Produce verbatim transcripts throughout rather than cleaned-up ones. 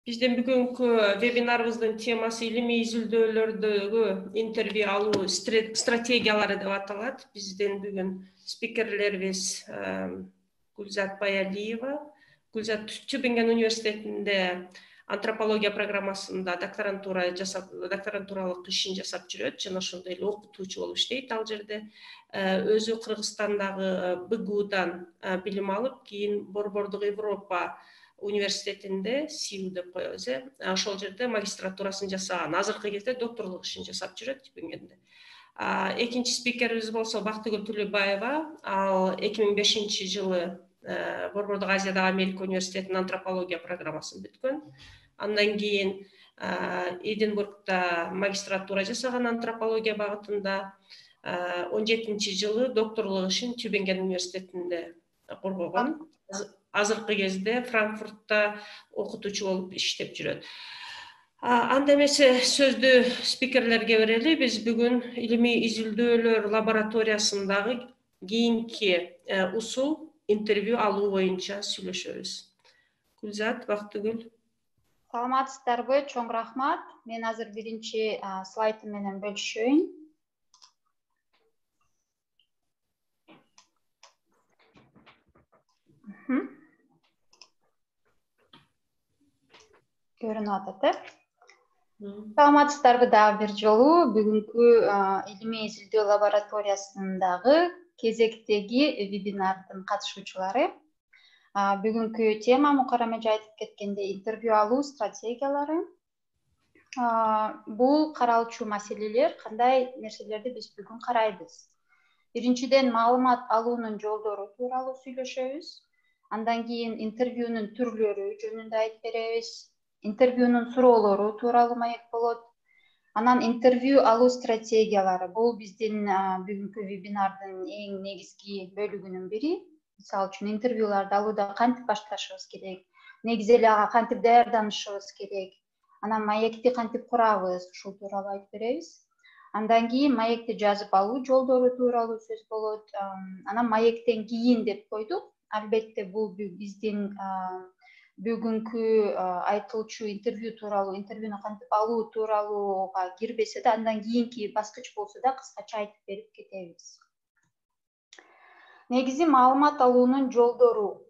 Биздин бүгүнкү вебинарыбыздын темасы илимий изилдөөлөрдөгү интервью алуу стратегиялары деп аталат. Биздин бүгүн спикерлерибиз Гүлзат Баялиева. Гүлзат Тюбинген университетинде антропология программасында докторантура жасап, докторантуралык ишин жасап жүрөт жана ошондой эле окутуучу болуп иштейт ал жерде. Өзү Кыргызстандагы БГУдан билим алып, кийин Борбордук Европа университетинде СИУ деп коебуз, э ошол жерде магистратурасын жасаган. Азыркы кезде докторлук ишин жасап жүрөт Тюбингенде. Экинчи спикерибиз болсо Бактыгүл Тулебаева. Ал эки миң бешинчи жылы Борбордук Азиядагы Америка университетинин антропология программасын бүткөн. Андан кийин Эдинбургда магистратура жасаган антропология багытында. он жетинчи жылы докторлук ишин Тюбинген университетинде коргогон. Азыркы кезде Франкфуртта окутуучу болуп иштеп жүрөт. Анда эмесе сөздү спикерлерге берели. Биз бүгүн илимий изилдөөлөр лабораториясындагы кийинки усул интервью алуу боюнча сүйлөшөбүз. Гүлзат, Бактыгүл. Саламатсыздарбы? Чоң рахмат. Мен азыр биринчи слайдым менен бөлүшөйүн. Көрүнүп атат, э? Саламатсыздарбы дагы бир жолу. Бүгүнкү илимий изилдөө лабораториясындагы кезектеги вебинардын катышуучулары. Бүгүнкү тема мукаррам эже айтып кеткендей интервью алуу стратегиялары. Бул каралчу маселелер, кандай нерселерди биз бүгүн карайбыз. Биринчиден, маалымат алуунун жолдору тууралуу сүйлөшөбүз. Андан кийин интервьюнун түрлөрү жөнүндө айтып беребиз. Интервьюнун суроолору тууралуу маек болот. Анан интервью алуу стратегиялары. Бул биздин бүгүнкү вебинардын эң негизги бөлүгүнүн бири. Мисалы үчүн интервьюларды алууда кантип башташыбыз керек, негизи эле ага кантип даярданышыбыз керек, анан маекти кантип курабыз, ушул тууралуу айтып беребиз. Андан кийин маекти жазып алуу жолдору тууралуу сөз болот. Анан маектен кийин деп койдук. Албетте бул биздин бүгүнкү айтылчу интервью тууралуу, интервьюну кантип алуу тууралууга кирбесе да, андан кийинки баскыч болсо да кыскача айтып берип кетебиз. Негизи маалымат алуунун жолдору.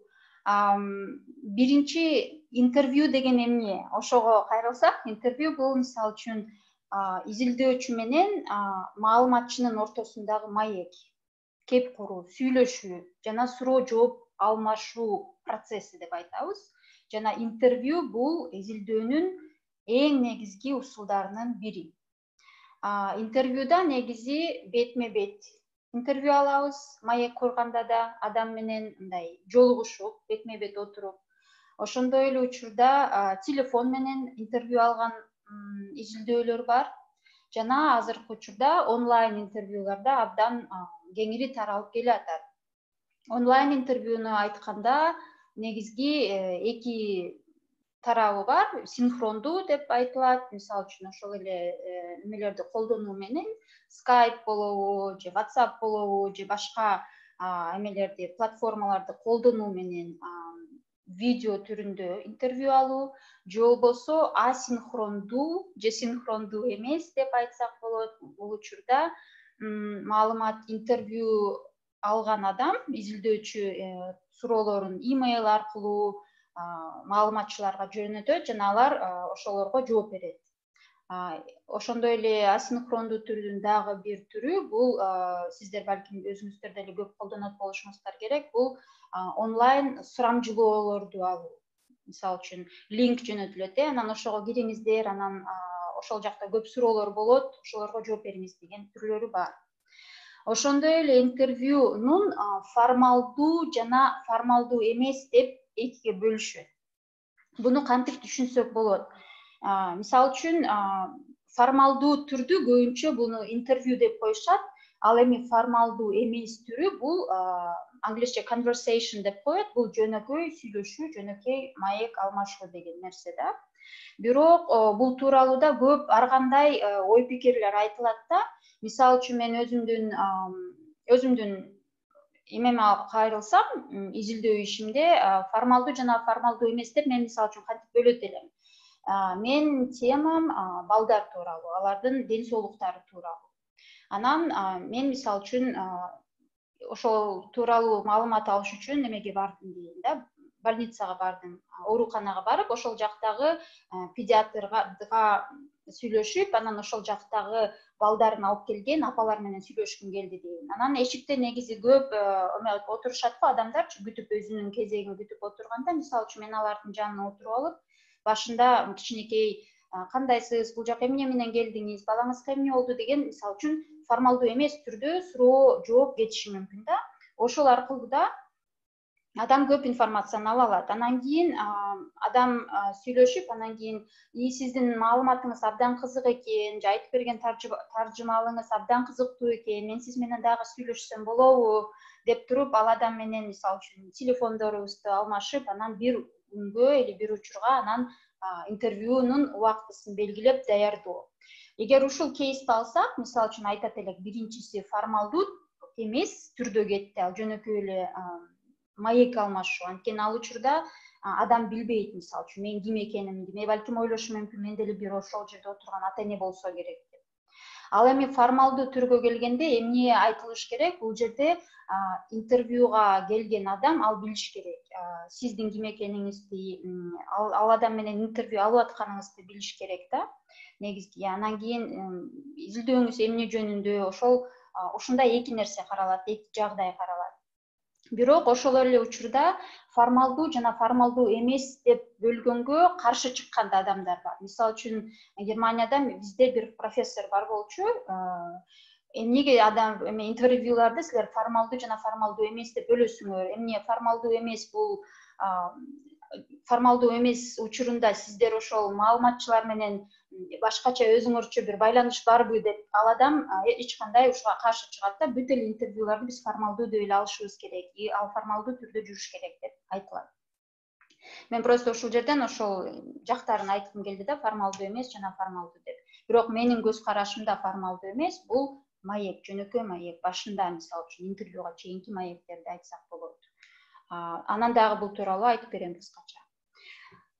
Биринчи интервью деген эмне? Ошого кайрылсак, интервью бул мисалы үчүн изилдөөчү менен маалыматчынын ортосундагы маек, кеп куруу, сүйлөшүү жана суроо жооп алмашуу процесси деп айтабыз. Жана интервью бул изилдөөнүн эң негизги усулдарынын бири. Интервьюда негизи бетме бет интервью алабыз, маек курганда да адам менен мындай жолугушуп, бетме бет отуруп. Ошондой эле учурда телефон менен интервью алган изилдөөлөр бар. Жана азыркы учурда онлайн интервьюларда абдан кеңири таралып келатат. Онлайн интервьюну айтканда негизги эки тарабы бар. Синхрондуу деп айтылат. Мисалы үчүн ошол эле немелерди колдонуу менен Skype болобу, же WhatsApp болобу, же башка эмелерди, платформаларды колдонуу менен видео түрүндө интервью алуу, же болбосо асинхрондуу же синхрондуу эмес деп айтсак болот. Бул учурда маалымат интервью алган адам, изилдөөчү суроолорун имейл аркылуу маалыматчыларга жөнөтөт жана алар ошолорго жооп берет. Ошондой эле асинхрондуу түрдүн дагы бир түрү бул сиздер балким өзүңүздөр деле көп колдонот болушуңуздар керек. Бул онлайн сурамжылоолорду алуу. Мисалы үчүн линк жөнөтүлөт, анан ошого кириңиздер, анан ошол жакта көп суроолор болот, ошолорго жооп бериңиз деген түрлөрү бар. Ошондой эле интервьюнун формалдуу жана формалдуу эмес деп экиге бөлүшөт. Буну кантип түшүнсөк болот? Мисалы үчүн формалдуу түрдү көбүнчө буну интервью деп коюшат. Ал эми формалдуу эмес түрү бул англисче conversation деп коет. Бул жөнөкөй сүйлөшүү, жөнөкөй маек алмашуу деген нерсе да. Бирок бул тууралуу да көп ар кандай ой пикирлер айтылат да. Мисалы үчүн мен өзүмдүн өзүмдүн эмеме кайрылсам, изилдөө ишимде формалдуу жана формалдуу эмес деп мен мисалы үчүн кантип бөлөт элем. Менин темам балдар тууралуу, алардын ден соолуктары тууралуу. Анан мен мисалы үчүн ошол тууралуу маалымат алыш үчүн эмеге бардым дейм да, больницага бардым, ооруканага барып, ошол жактагы педиатрга сүйлөшүп, анан ошол жактагы балдарын алып келген апалар менен сүйлөшкүм келди дейм. Анан эшикте негизи көп отурушат го адамдарчы, күтүп өзүнүн кезегин күтүп отурганда, мисалы үчүн мен алардын жанына отуруп алып, башында кичинекей кандайсыз, бул жака эмне менен келдиңиз, балаңызга эмне болду деген мисалы үчүн формалдуу эмес түрдө суроо жооп кетиши мүмкүн да. Ошол аркылуу да адам көп информацияны ала алат. Анан кийин адам сүйлөшүп, анан кийин и сиздин маалыматыңыз абдан кызык экен, же айтып берген таржымалыңыз абдан кызыктуу экен, мен сиз менен дагы сүйлөшсөм болобу деп туруп, ал адам менен мисалы үчүн телефондорубузду алмашып, анан бир күнгө или бир учурга анан интервьюнун убактысын белгилеп даярдоо. Эгер ушул кейсти алсак, мисалы үчүн айтат элек, биринчиси формалдуу эмес түрдө кетти, ал жөнөкөй эле маек алмашуу. Анткени ал учурда адам билбейт, мисалы үчүн мен ким экенимди, мен балким ойлошу мүмкүн, мен деле бир ошол жерде отурган ата эне болсо керек деп. Ал эми формалдуу түргө келгенде эмне айтылыш керек? Бул жерде интервьюга келген адам ал билиш керек. Сиздин ким экениңизди, ал адам менен интервью алып атканыңызды билиш керек да. Негизги анан кийин изилдөөңүз эмне жөнүндө, ошол ушундай эки нерсе каралат, эки жагдай каралат. Бирок ошол эле учурда формалдуу жана формалдуу эмес деп бөлгөнгө каршы чыккан да адамдар бар. Мисалы үчүн Германияда бизде бир профессор бар болчу. Эмнеге адам эме интервьюларды силер формалдуу жана формалдуу эмес деп бөлөсүңөр? Эмне формалдуу эмес бул формалдуу эмес учурунда сиздер ошол маалыматчылар менен башкача өзүңөрчө бир байланыш барбы деп ал адам эч кандай ушуга каршы чыгат да, бүт эле интервьюларды биз формалдуу деп эле алышыбыз керек, и ал формалдуу түрдө жүрүш керек деп айтылат. Мен просто ушул жерден ошол жактарын айткым келди да, формалдуу эмес жана формалдуу деп. Бирок менин көз карашымда формалдуу эмес бул маек, жөнөкөй маек, башында мисалы үчүн интервьюга чейинки маектерди айтсак болот. Анан дагы бул тууралуу айтып берем кыскача.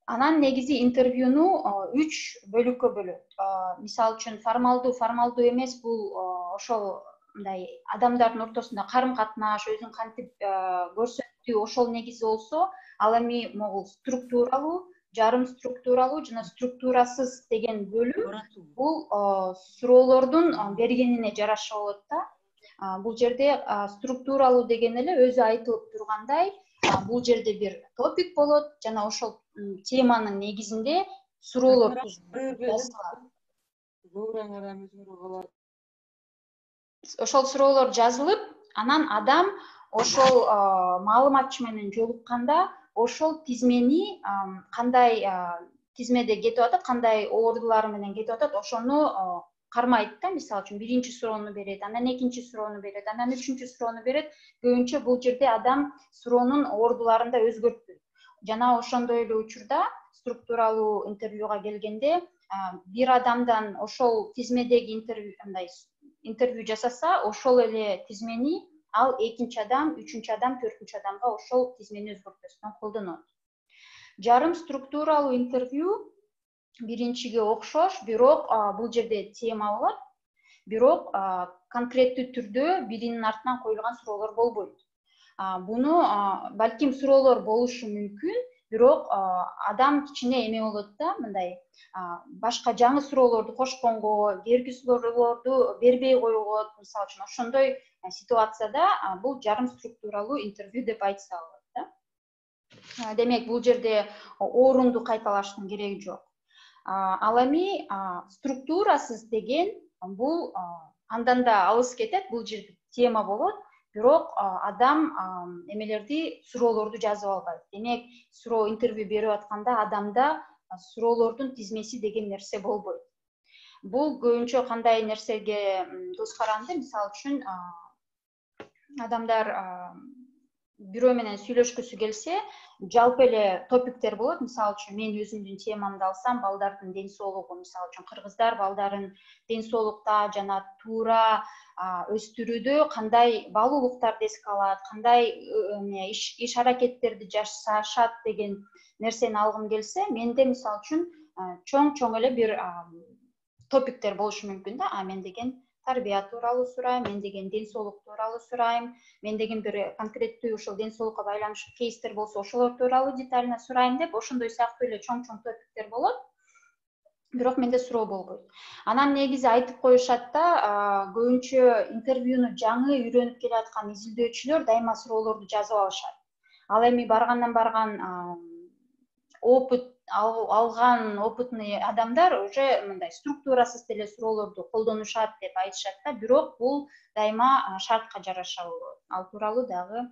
Анан негизи интервьюну үч бөлүккө бөлөт. Мисалы үчүн формалдуу, формалдуу эмес бул ошол мындай адамдардын ортосунда карым-катнаш, өзүн кантип көрсөттү, ошол негизи болсо, ал эми могул структуралуу, жарым структуралуу жана структурасыз деген бөлүм бул суроолордун бергенине жараша болот да. Бул жерде структуралуу деген эле өзү айтылып тургандай, бул жерде бир топик болот жана ошол теманын негизинде суроолор жазылат. Ошол суроолор жазылып, анан адам ошол маалыматчы менен жолукканда ошол тизмени кандай тизмеде кетип атат, кандай ордулар менен кетип атат, ошону кармайт да. Мисалы үчүн биринчи суроону берет, анан экинчи суроону берет, анан үчүнчү суроону берет. Көбүнчө бул жерде адам суроонун ордуларын да өзгөртпөйт. Жана ошондой эле учурда структуралуу интервьюга келгенде бир адамдан ошол тизмедеги интервью мындай интервью жасаса, ошол эле тизмени ал экинчи адам, үчүнчү адам, төртүнчү адамга ошол тизмени өзгөртпөстөн колдонот. Жарым структуралуу интервью биринчиге окшош, бирок бул жерде тема болот, бирок конкреттүү түрдө биринин артынан коюлган суроолор болбойт. Буну балким суроолор болушу мүмкүн, бирок адам кичине эме болот да, мындай башка жаңы суроолорду кошконго, берги суроолорду бербей койгон, мисалы үчүн ошондой ситуацияда бул жарым структуралуу интервью деп айтса болот да. Демек, бул жерде орунду кайталаштын кереги жок. Ал эми структурасыз деген бул андан да алыс кетет, бул жерде тема болот, бирок адам эмелерди, суроолорду жазып албайт. Демек, суроо интервью берип атканда адамда суроолордун тизмеси деген нерсе болбойт. Бул көбүнчө кандай нерсеге көз каранды? Мисалы үчүн адамдар бирөө менен сүйлөшкүсү келсе, жалпы эле топиктер болот. Мисалы үчүн мен өзүмдүн темамды алсам, балдардын ден соолугу, мисалы үчүн кыргыздар балдарын ден соолукта жана туура өстүрүүдө кандай баалуулуктарды эске алат, кандай иш аракеттерди жасашат деген нерсени алгым келсе, менде мисалы үчүн чоң чоң эле бир топиктер болушу мүмкүн да. А мен деген тарбия тууралуу сурайм, мен деген ден соолук тууралуу сурайм, мен деген бир конкреттүү ошол ден соолукка байланыштуу кейстер болсо ошолор тууралуу детально сурайм деп ошондой сыяктуу эле чоң чоң топиктер болот. Бирок менде суроо болбойт. Анан негизи айтып коюшат да, көбүнчө интервьюну жаңы үйрөнүп келаткан изилдөөчүлөр дайыма суроолорду жазып алышат. Ал эми баргандан барган опыт алган опытный адамдар уже мындай структурасыз деле суроолорду колдонушат деп айтышат да, бирок бул дайыма шартка жараша болот. Ал тууралуу дагы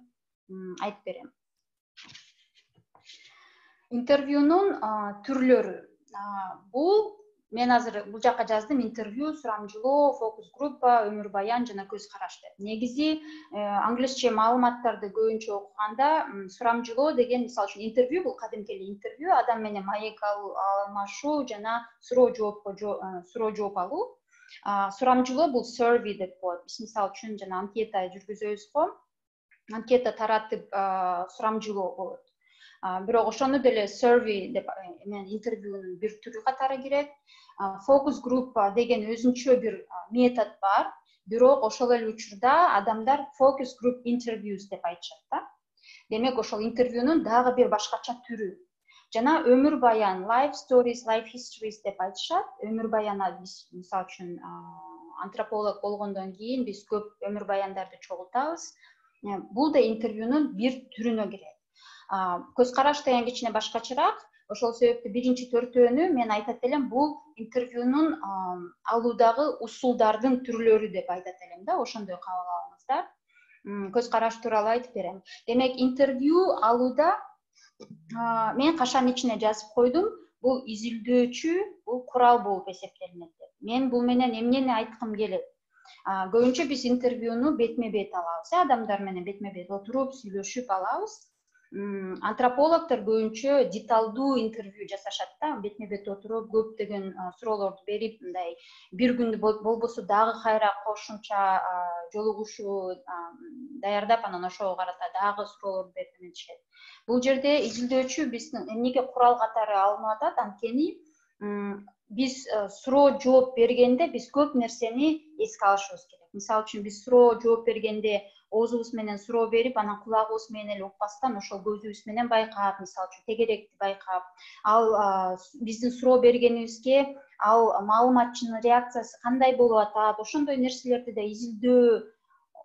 айтып берем. Интервьюнун түрлөрү. Бул мен азыр бул жака жаздым: интервью, сурамжылоо, фокус группа, өмүр баян жана көз караш деп. Негизи англисче маалыматтарды көбүнчө окуганда сурамжылоо деген, мисалы үчүн интервью бул кадимки эле интервью, адам менен маек алмашуу жана суроо жоопко суроо жооп алуу. Сурамжылоо бул survey деп коет. Биз мисалы үчүн жана анкета жүргүзөбүз го. Анкета таратып сурамжылоо болот. Бирок ошону деле survey деп мен интервьюнун бир түрү катары кирет. Фокус группа деген өзүнчө бир метод бар, бирок ошол эле учурда адамдар focus group interviews деп айтышат да. Демек ошол интервьюнун дагы бир башкача түрү. Жана өмүр баян, life stories, life histories деп айтышат. Өмүр баяна биз мисалы үчүн антрополог болгондон кийин биз көп өмүр баяндарды чогултабыз. Бул да интервьюнун бир түрүнө кирет. Көз караш деген кичине башкачараак. Ошол себептен биринчи төртөөнү мен айтат элем, бул интервьюнун алуудагы усулдардын түрлөрү деп айтат элем да, ошондой кабыл алыңыздар. Көз караш тууралуу айтып берем. Демек, интервью алууда мен кашанын ичине жазып койдум, бул изилдөөчү, бул курал болуп эсептелинет деп. Мен бул менен эмнени айткым келет? Көбүнчө биз интервьюну бетме-бет алабыз, адамдар менен бетме-бет отуруп сүйлөшүп алабыз. Антропологдор көбүнчө деталдуу интервью жасашат да, бетме-бет отуруп көптөгөн суроолорду берип, мындай бир күндү болбосо дагы кайра кошумча жолугушуу даярдап, анан ошого карата дагы суроолорду берип эметишет. Бул жерде изилдөөчү биздин эмнеге курал катары алынып атат? Анткени биз суроо жооп бергенде биз көп нерсени эске алышыбыз керек. Мисалы үчүн биз суроо жооп бергенде оозубуз менен суроо берип, анан кулагыбыз менен эле укпастан ошол көзүбүз менен байкап, мисалы үчүн тегеректи байкап, ал биздин суроо бергенибизге ал маалыматчынын реакциясы кандай болуп атат, ошондой нерселерди да изилдөө,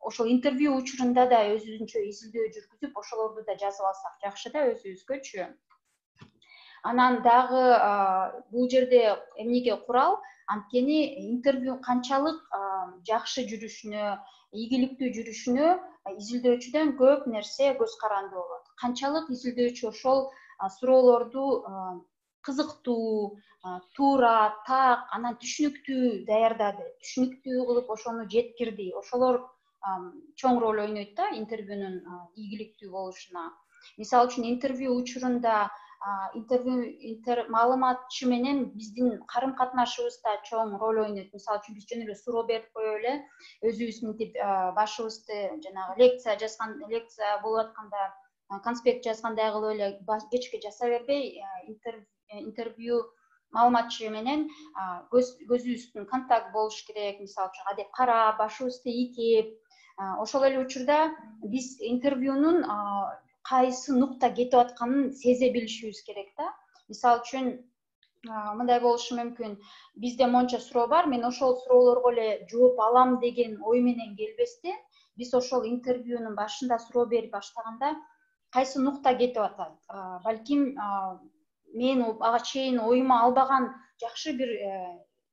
ошол интервью учурунда да өзүбүзчө изилдөө жүргүзүп, ошолорду да жазып алсак жакшы да өзүбүзгөчү. Анан дагы бул жерде эмнеге курал? Анткени интервью канчалык жакшы жүрүшүнө, ийгиликтүү жүрүшүнө изилдөөчүдөн көп нерсе көз каранды болот. Канчалык изилдөөчү ошол суроолорду кызыктуу, туура, так, анан түшүнүктүү даярдады, түшүнүктүү кылып ошону жеткирди. Ошолор чоң роль ойнойт да интервьюнун ийгиликтүү болушуна. Мисалы үчүн интервью учурунда интервью маалыматчы менен биздин карым катнашыбызда чоң роль ойнойт. Мисалы үчүн биз жөн эле суроо берип коюп эле өзүбүз мынтип башыбызды жанагы лекция жазган, лекция болуп атканда конспект жазгандай кылып эле кечке жаза бербей, интервью маалыматчы менен көзүбүздүн контакт болуш керек. Мисалы үчүн кадеп карап, башыбызды ийкеп, ошол эле учурда биз интервьюнун кайсы нукта кетип атканын сезе билишибиз керек да. Мисалы үчүн мындай болушу мүмкүн: бизде монча суроо бар, мен ошол суроолорго эле жооп алам деген ой менен келбестен, биз ошол интервьюнун башында суроо берип баштаганда кайсы нукта кетип атат, балким мен ага чейин оюма албаган жакшы бир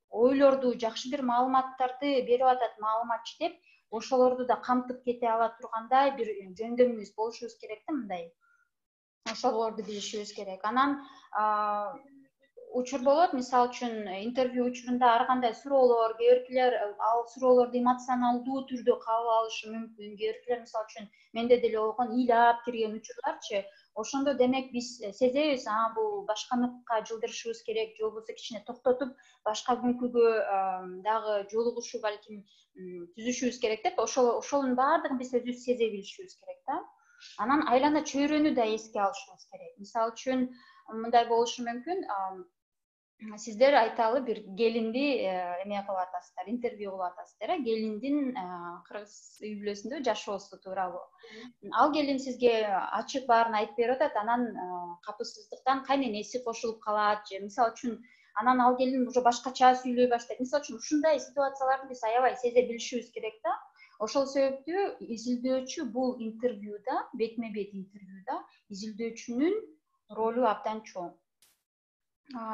ойлорду, жакшы бир маалыматтарды берип атат маалыматчы деп, ошолорду да камтып кете ала тургандай бир жөндөмүбүз болушубуз керек да, мындай. Ошолорду билишибиз керек. Анан учур болот, мисалы үчүн интервью учурунда ар кандай суроолор, кээ биркилер ал суроолорду эмоционалдуу түрдө кабыл алышы мүмкүн, кээ биркилер мисалы үчүн менде деле болгон ыйлап кирген учурларчы. Ошондо демек биз сезебиз, а бул башка нукка жылдырышыбыз керек, же болбосо кичине токтотуп башка күнкүгө дагы жолугушуу балким түзүшүбүз керек деп, ошол ошонун баардыгын биз өзүбүз сезе билишибиз керек да. Анан айлана чөйрөнү да эске алышыбыз керек. Мисалы үчүн мындай болушу мүмкүн: сиздер айталы бир келинди эме кылып атасыздар, интервью кылып атасыздар, э, келиндин кыргыз үй бүлөсүндө жашоосу тууралуу. Ал келин сизге ачык баарын айтып берип атат, анан капысыздыктан кайненеси кошулуп калат же мисалы үчүн анан ал келин уже башкача сүйлөй баштайт. Мисалы үчүн ушундай ситуацияларды биз аябай сезе билишибиз керек да. Ошол себептүү изилдөөчү бул интервьюда, бетме бет интервьюда изилдөөчүнүн ролу абдан чоң.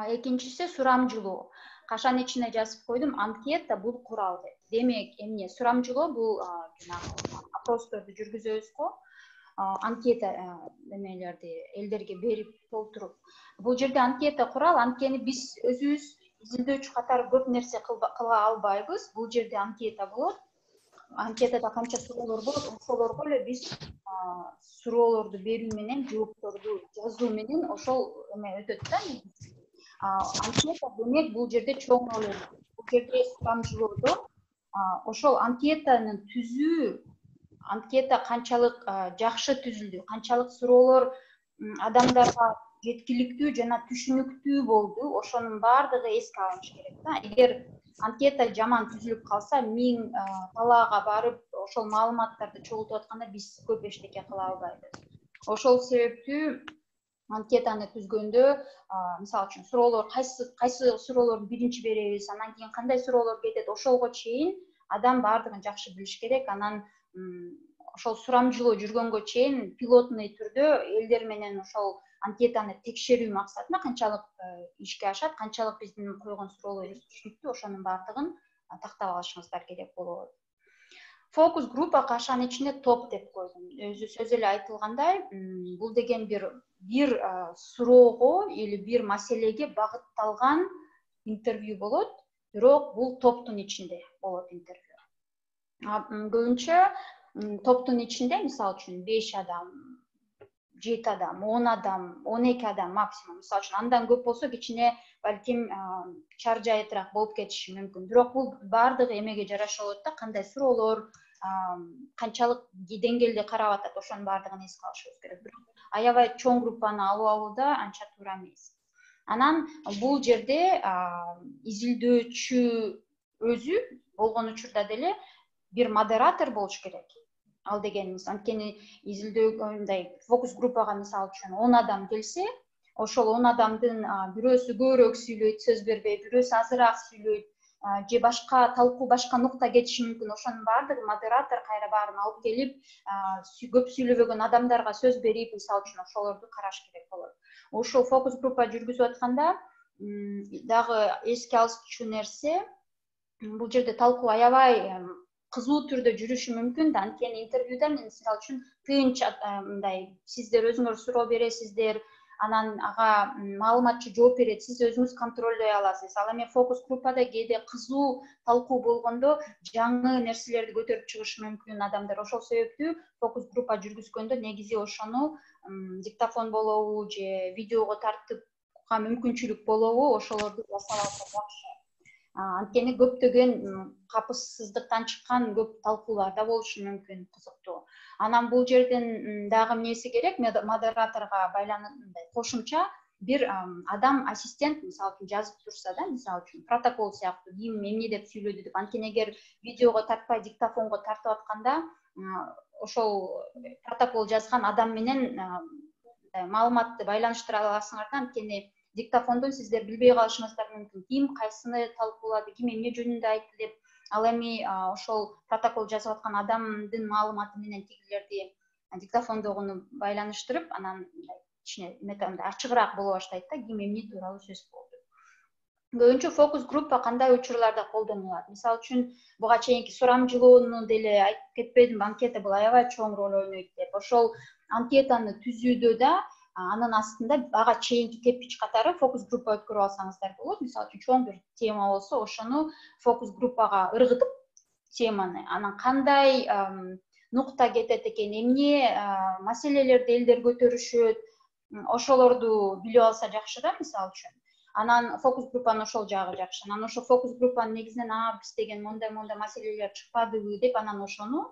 Экинчиси сурамжылоо. Кашанын ичине жазып койдум, анкета бул курал деп. Демек, эмне сурамжылоо бул жанагы опросторду жүргүзөбүз го. Анкета эмелерди элдерге берип толтуруп. Бул жерде анкета курал, анткени биз өзүбүз изилдөөчү катары көп нерсе кыла албайбыз. Бул жерде анкета болот. Анкетада канча суроолор болот, ошолорго эле биз суроолорду берүү менен, жоопторду жазуу менен ошол эме өтөт да. Анкета демек бул жерде чоң роль ойнойт. Бул жерде сурамжылоодо ошол анкетаны түзүү, анкета канчалык жакшы түзүлдү, канчалык суроолор адамдарга жеткиликтүү жана түшүнүктүү болду, ошонун баардыгы эске алыныш керек да. Эгер анкета жаман түзүлүп калса, миң талаага барып, ошол маалыматтарды чогултуп атканда биз көп эчтеке кыла албайбыз. Ошол себептүү анкетаны түзгөндө, мисалы үчүн суроолор кайсы кайсы суроолорду биринчи беребиз, анан кийин кандай суроолор кетет, ошолго чейин адам баардыгын жакшы билиш керек. Анан ошол сурамжылоо жүргөнгө чейин пилотный түрдө элдер менен ошол анкетаны текшерүү максатында канчалык ишке ашат, канчалык биздин койгон суроолор түшүнүктүү, ошонун баардыгын тактап алышыңыздар керек болот. Фокус группа кашанын ичине топ деп койдум. Өзү сөз эле айтылгандай, бул деген бир бир суроого или бир маселеге багытталган интервью болот, бирок бул топтун ичинде болот интервью. Көбүнчө топтун ичинде, мисалы үчүн беш адам, жети адам, он адам, он эки адам максимум. Мисалы үчүн андан көп болсо кичине балким чаржайтыраак болуп кетиши мүмкүн. Бирок бул баардыгы эмеге жараша болот да, кандай суроолор, канчалык деңгээлде карап атат, ошонун баардыгын эске алышыбыз керек. Бирок аябай чоң группаны алып алууда анча туура эмес. Анан бул жерде изилдөөчү өзү болгон учурда деле бир модератор болуш керек. Ал дегенimiz, анткени изилдөөгөндөй фокус группага мисалы үчүн он адам келсе, ошол он адамдын бирөөсү көбүрөөк сүйлөйт, сөз бербей, бирөөсү азыраак сүйлөйт, же башка талкуу башка нукта кетиши мүмкүн. Ошонун баардыгы модератор кайра баарын алып келип, көп сүйлөбөгөн адамдарга сөз берип, мисалы үчүн ошолорду караш керек болот. Ошол фокус группа жүргүзүп атканда дагы эске алчу нерсе, бул жерде талкуу аябай кызуу түрдө жүрүшү мүмкүн да, анткени интервьюда мисалы үчүн тынч мындай сиздер өзүңөр суроо бересиздер, анан ага маалыматчы жооп берет, сиз өзүңүз контролдой аласыз. Ал эми фокус группада кээде кызуу талкуу болгондо жаңы нерселерди көтөрүп чыгышы мүмкүн адамдар. Ошол себептүү фокус группа жүргүзгөндө негизи ошону диктофон болобу же видеого тартууга мүмкүнчүлүк болобу, ошолорду жасап алса жакшы. Анткени көптөгөн капысыздыктан чыккан көп талкуулар да болушу мүмкүн, кызыктуу. Анан бул жерден дагы эмнеси керек? Модераторго байланыштай кошумча бир адам ассистент мисалы үчүн жазып турса да, мисалы үчүн протокол сыяктуу ким эмне деп сүйлөдү деп. Анткени эгер видеого тартпай диктофонго тартып атканда, ошол протокол жазган адам менен маалыматты байланыштыра аласыңар да, анткени диктофондон сиздер билбей калышыңыздар мүмкүн. Ким кайсыны талкуулады, ким эмне жөнүндө айтты деп. Ал эми ошол протокол жазып аткан адамдын маалыматы менен тигилерди диктофондогуну байланыштырып, анан кичине метандай ачыгыраак боло баштайт да, ким эмне тууралуу сөз болду. Көбүнчө фокус группа кандай учурларда колдонулат? Мисалы үчүн буга чейинки сурамжылоону деле айтып кетпедимби, анкета бул аябай чоң роль ойнойт деп. Ошол анкетаны түзүүдө да анын астында ага чейинки кепич катары фокус группа өткөрүп алсаңыздар болот. Мисалы үчүн чоң бир тема болсо, ошону фокус группага ыргытып теманы, анан кандай нукта кетет экен, эмне маселелерди элдер көтөрүшөт, ошолорду билип алса жакшы да, мисалы үчүн. Анан фокус группанын ошол жагы жакшы. Анан ошол фокус группанын негизинен а биз деген мондай-мондай маселелер чыкпадыбы деп, анан ошону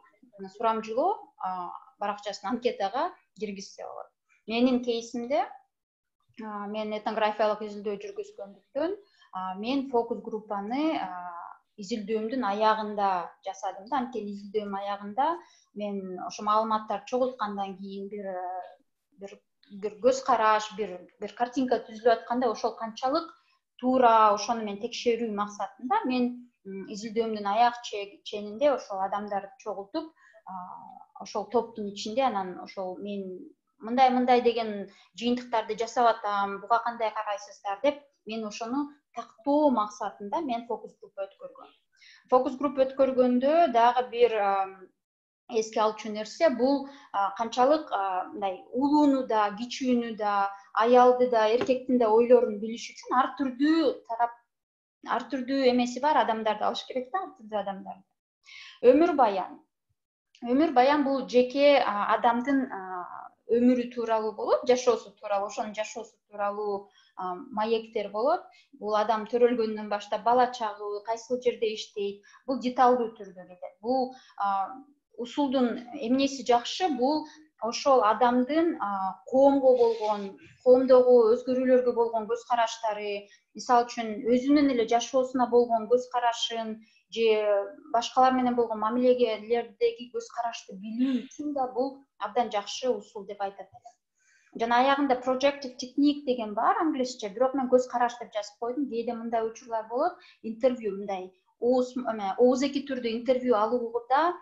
сурамжылоо баракчасына анкетага киргизсе болот. Менин кейсимде мен этнографиялык изилдөө жүргүзгөндүктөн мен фокус группаны изилдөөмдүн аягында жасадым да. Анткени изилдөөм аягында мен ошо маалыматтарды чогулткандан кийин бир бир бир көз караш, бир бир картинка түзүлүп атканда ошол канчалык туура, ошону мен текшерүү максатында мен изилдөөмдүн аяк ченинде ошол адамдарды чогултуп, ошол топтун ичинде анан ошол мен мындай мындай деген жыйынтыктарды жасап атам, буга кандай карайсыздар деп мен ошону тактоо максатында мен фокус группа өткөргөм. Фокус группа өткөргөндө дагы бир эске алчу нерсе бул канчалык мындай улууну да, кичүүнү да, аялды да, эркектин да ойлорун билиш үчүн ар түрдүү тарап, ар түрдүү эмеси бар адамдарды алыш керек да, ар түрдүү адамдарды. Өмүр баян. Өмүр баян бул жеке адамдын өмүрү тууралуу болот, жашоосу тууралуу, ошонун жашоосу тууралуу маектер болот. Бул адам төрөлгөндөн баштап бала чагы, кайсыл жерде иштейт, бул деталдуу түрдө кетет. Бул усулдун эмнеси жакшы, бул ошол адамдын коомго болгон, коомдогу өзгөрүүлөргө болгон көз караштары, мисалы үчүн өзүнүн эле жашоосуна болгон көз карашын же башкалар менен болгон мамилегелердеги көз карашты билүү үчүн да бул абдан жакшы усул деп айтат элем. Жана аягында projective technique деген бар англисче, бирок мен көз караш деп жазып койдум. Кээде мындай учурлар болот, интервью мындай ооз ооз эки түрдө интервью алууда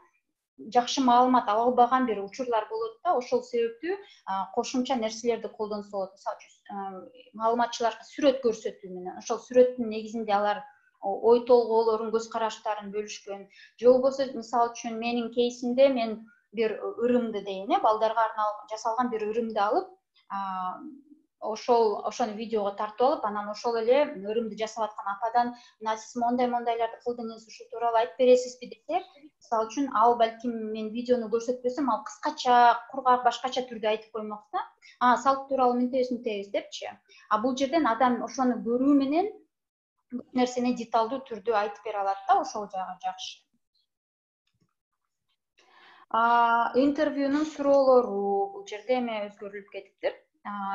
жакшы маалымат ала албаган бир учурлар болот да, ошол себептүү кошумча нерселерди колдонсо болот. Мисалы үчүн маалыматчыларга сүрөт көрсөтүү менен, ошол сүрөттүн негизинде алар ой толгоолорун, көз караштарын бөлүшкөн. Же болбосо мисалы үчүн менин кейсимде мен бир ырымды дейин, э, балдарга арналган жасалган бир ырымды алып, ошол ошону видеого тартып алып, анан ошол эле ырымды жасап аткан ападан мына сиз мондай-мондайларды кылдыңыз, ушул тууралуу айтып бересизби десек, мисалы үчүн ал балким мен видеону көрсөтпөсөм, ал кыскача, кургак, башкача түрдө айтып коймок да. А, салт тууралуу мынтебиз, мынтебиз депчи. А бул жерден адам ошону көрүү менен бүт нерсени деталдуу түрдө айтып бере алат да, ошол жагы жакшы. Интервьюнун суроолору бул жерде эме өзгөрүлүп кетиптир.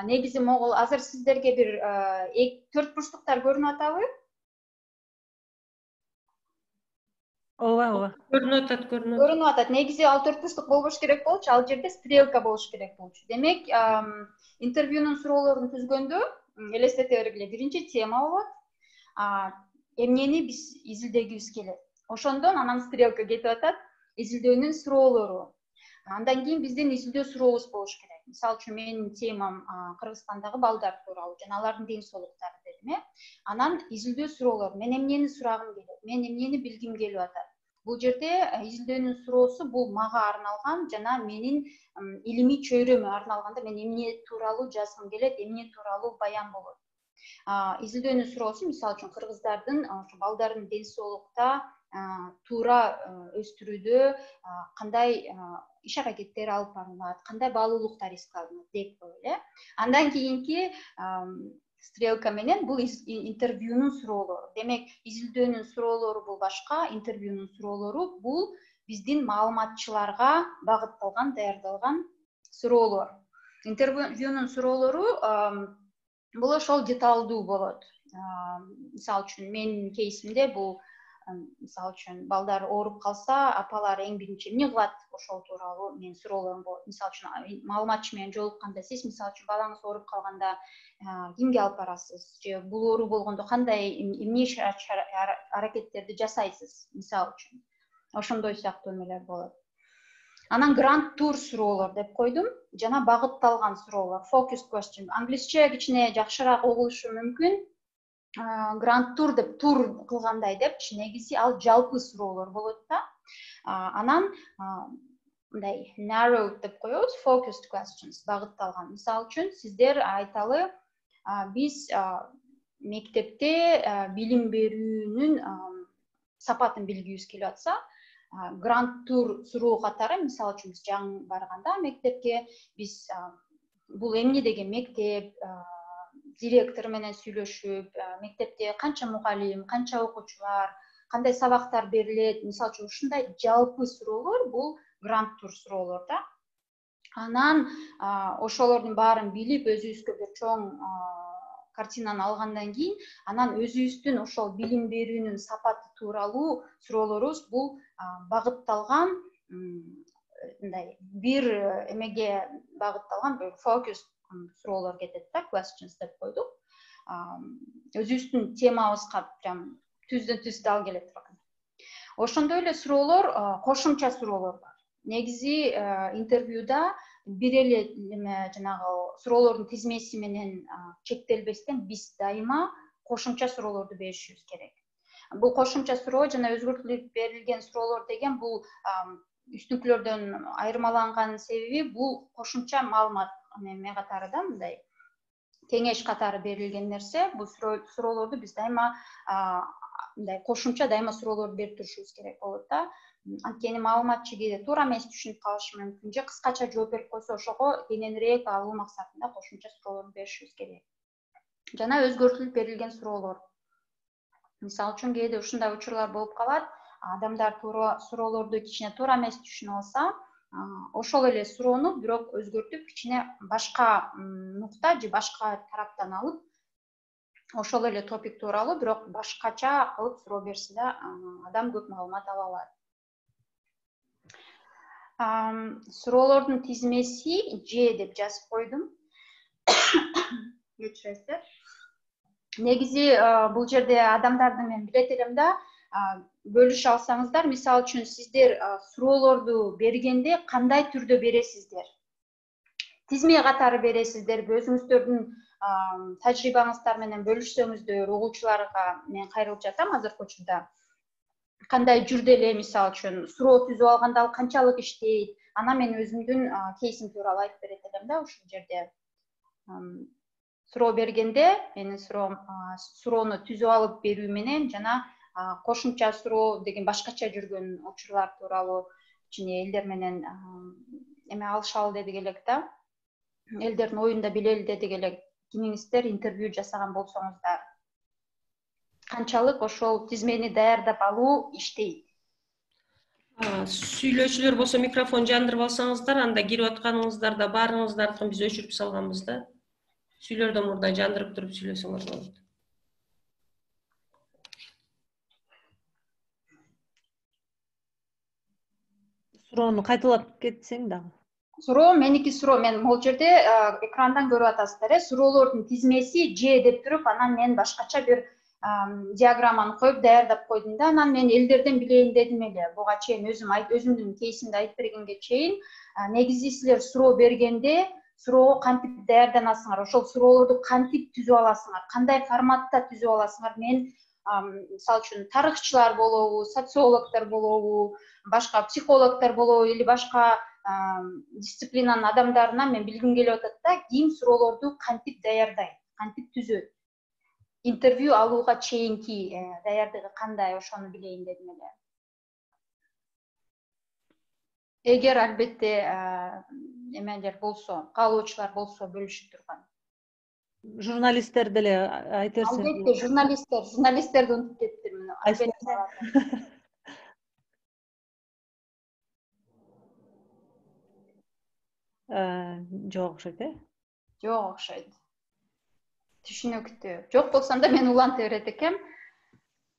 Негизи могул азыр сиздерге бир төрт бурчтуктар көрүнүп атабы? Ооба, ооба. Көрүнүп атат, көрүнүп. Көрүнүп атат. Негизи ал төрт бурчтук болбош керек болчу, ал жерде стрелка болуш керек болчу. Демек, интервьюнун суроолорун түзгөндө элестете бергиле, биринчи тема болот. Эмнени биз изилдегибиз келет. Ошондон анан стрелка кетип атат, изилдөөнүн суроолору. Андан кийин биздин изилдөө сурообуз болуш керек. Мисалы үчүн менин темам Кыргызстандагы балдар тууралуу жана алардын ден соолуктары дедим, э. Анан изилдөө суроолор. Мен эмнени сурагым келет? Мен эмнени билгим келип атат? Бул жерде изилдөөнүн суроосу бул мага арналган жана менин илимий чөйрөмө арналганда мен эмне тууралуу жазгым келет, эмне тууралуу баян болот. Изилдөөнүн суроосу мисалы үчүн кыргыздардын ошо балдардын ден соолукта туура өстүрүүдө кандай иш аракеттер алып барылат, кандай баалуулуктар эске алынат деп коелу, э. Андан кийинки стрелка менен бул интервьюнун суроолору. Демек, изилдөөнүн суроолору бул башка, интервьюнун суроолору бул биздин маалыматчыларга багытталган, даярдалган суроолор. Интервьюнун суроолору бул ошол деталдуу болот. Мисалы үчүн менин кейсимде бул мисалы үчүн балдар ооруп калса, апалар эң биринчи эмне кылат, ошол тууралуу мен суроолорум болот. Мисалы үчүн маалыматчы менен жолукканда сиз мисалы үчүн балаңыз ооруп калганда кимге алып барасыз? Же бул оору болгондо кандай эмне аракеттерди жасайсыз, мисалы үчүн. Ошондой сыяктуу эмелер болот. Анан грант тур суроолор деп койдум, жана багытталган суроолор, focused question. Англисче кичине жакшыраак угулушу мүмкүн. Грант тур деп тур кылгандай депчи, негизи ал жалпы суроолор болот да. Анан мындай narrow деп коебуз, focused questions, багытталган. Мисалы үчүн сиздер айталы, биз мектепте билим берүүнүн сапатын билгибиз келип атса, грант тур суроо катары, мисалы үчүн биз жаңы барганда мектепке, биз бул эмне деген мектеп, директор менен сүйлөшүп, мектепте канча мугалим, канча окуучулар, кандай сабактар берилет, мисалы үчүн ушундай жалпы суроолор бул грант тур суроолор да. Анан ошолордун баарын билип, өзүбүзгө бир чоң картинаны алгандан кийин, анан өзүбүздүн ошол билим берүүнүн сапаты тууралуу суроолорубуз бул багытталган мындай бир эмеге багытталган бир фокус суроолор кетет да, questions деп койдук. Өзүбүздүн темабызга прям түздөн түз дал келе турган. Ошондой эле суроолор, кошумча суроолор бар. Негизи интервьюда бир эле эме жанагы суроолордун тизмеси менен чектелбестен биз дайыма кошумча суроолорду беришибиз керек. Бул кошумча суроо жана өзгөртүлүп берилген суроолор деген бул үстүнкүлөрдөн айырмаланган себеби бул кошумча маалымат эме катары да, мындай кеңеш катары берилген нерсе. Бул суроолорду биз дайыма мындай кошумча дайыма суроолорду берип турушубуз керек болот да. Анткени маалыматчы кээде туура эмес түшүнүп калышы мүмкүн, же кыскача жооп берип койсо, ошого кененирээк алуу максатында кошумча суроолорду беришибиз керек. Жана өзгөртүлүп берилген суроолор. Мисалы үчүн кээде ушундай учурлар болуп калат, адамдар туура суроолорду кичине туура эмес түшүнүп алса, ошол эле суроону бирок өзгөртүп, кичине башка нукта же башка тараптан алып, ошол эле топик тууралуу бирок башкача кылып суроо берсе да, адам көп маалымат ала алат. Суроолордун тизмеси Ж деп жазып койдум. Кечиресиздер. Негизи бул жерде адамдарды мен билет элем да, бөлүшө алсаңыздар, мисалы үчүн сиздер суроолорду бергенде кандай түрдө бересиздер? Тизме катары бересиздерби? Өзүңүздөрдүн тажрыйбаңыздар менен бөлүшсөңүздөр, угуучуларга мен кайрылып жатам азыркы учурда. Кандай жүрдө эле, мисалы үчүн, суроо түзүп алганда ал канчалык иштейт? Анан мен өзүмдүн кейсим тууралуу айтып берет элем да ушул жерде. Суроо бергенде менин суроом суроону түзүп алып берүү менен жана кошумча суроо деген башкача жүргөн учурлар тууралуу кичине элдер менен эме алышалы дедик элек да. Элдердин оюн да билели дедик элек. Кимиңиздер интервью жасаган болсоңуздар, канчалык ошол тизмени даярдап алуу иштейт? Сүйлөөчүлөр болсо микрофон жандырып алсаңыздар, анда кирип атканыңыздарда баарыңыздардыкын биз өчүрүп салганбыз да. Сүйлөөдөн мурда жандырып туруп сүйлөсөңөр болот. Суроону кайталап кетсең дагы. Суроо меники суроо, мен могул жерде экрандан көрүп атасыздар, э, суроолордун тизмеси Ж деп туруп, анан мен башкача бир диаграмманы коюп даярдап койдум да, анан мен элдерден билейин дедим эле. Буга чейин өзүм өзүмдүн кейсимди айтып бергенге чейин, негизи силер суроо бергенде суроого кантип даярданасыңар, ошол суроолорду кантип түзүп аласыңар, кандай форматта түзүп аласыңар? Мен мисалы үчүн тарыхчылар болобу, социологдор болобу, башка психологдор болобу или башка дисциплинанын адамдарынан мен билгим келип атат да, ким суроолорду кантип даярдайт, кантип түзөт? Интервью алууга чейинки даярдыгы кандай, ошону билейин дедим эле. Эгер албетте эмелер болсо, каалоочулар болсо бөлүшүп турган. Журналисттер деле айтерсиң. Албетте, журналисттер, журналисттерди унутуп кеттим. Жок окшойт, э? Жок окшойт. Түшүнүктүү. Жок болсом да мен уланта берет экем.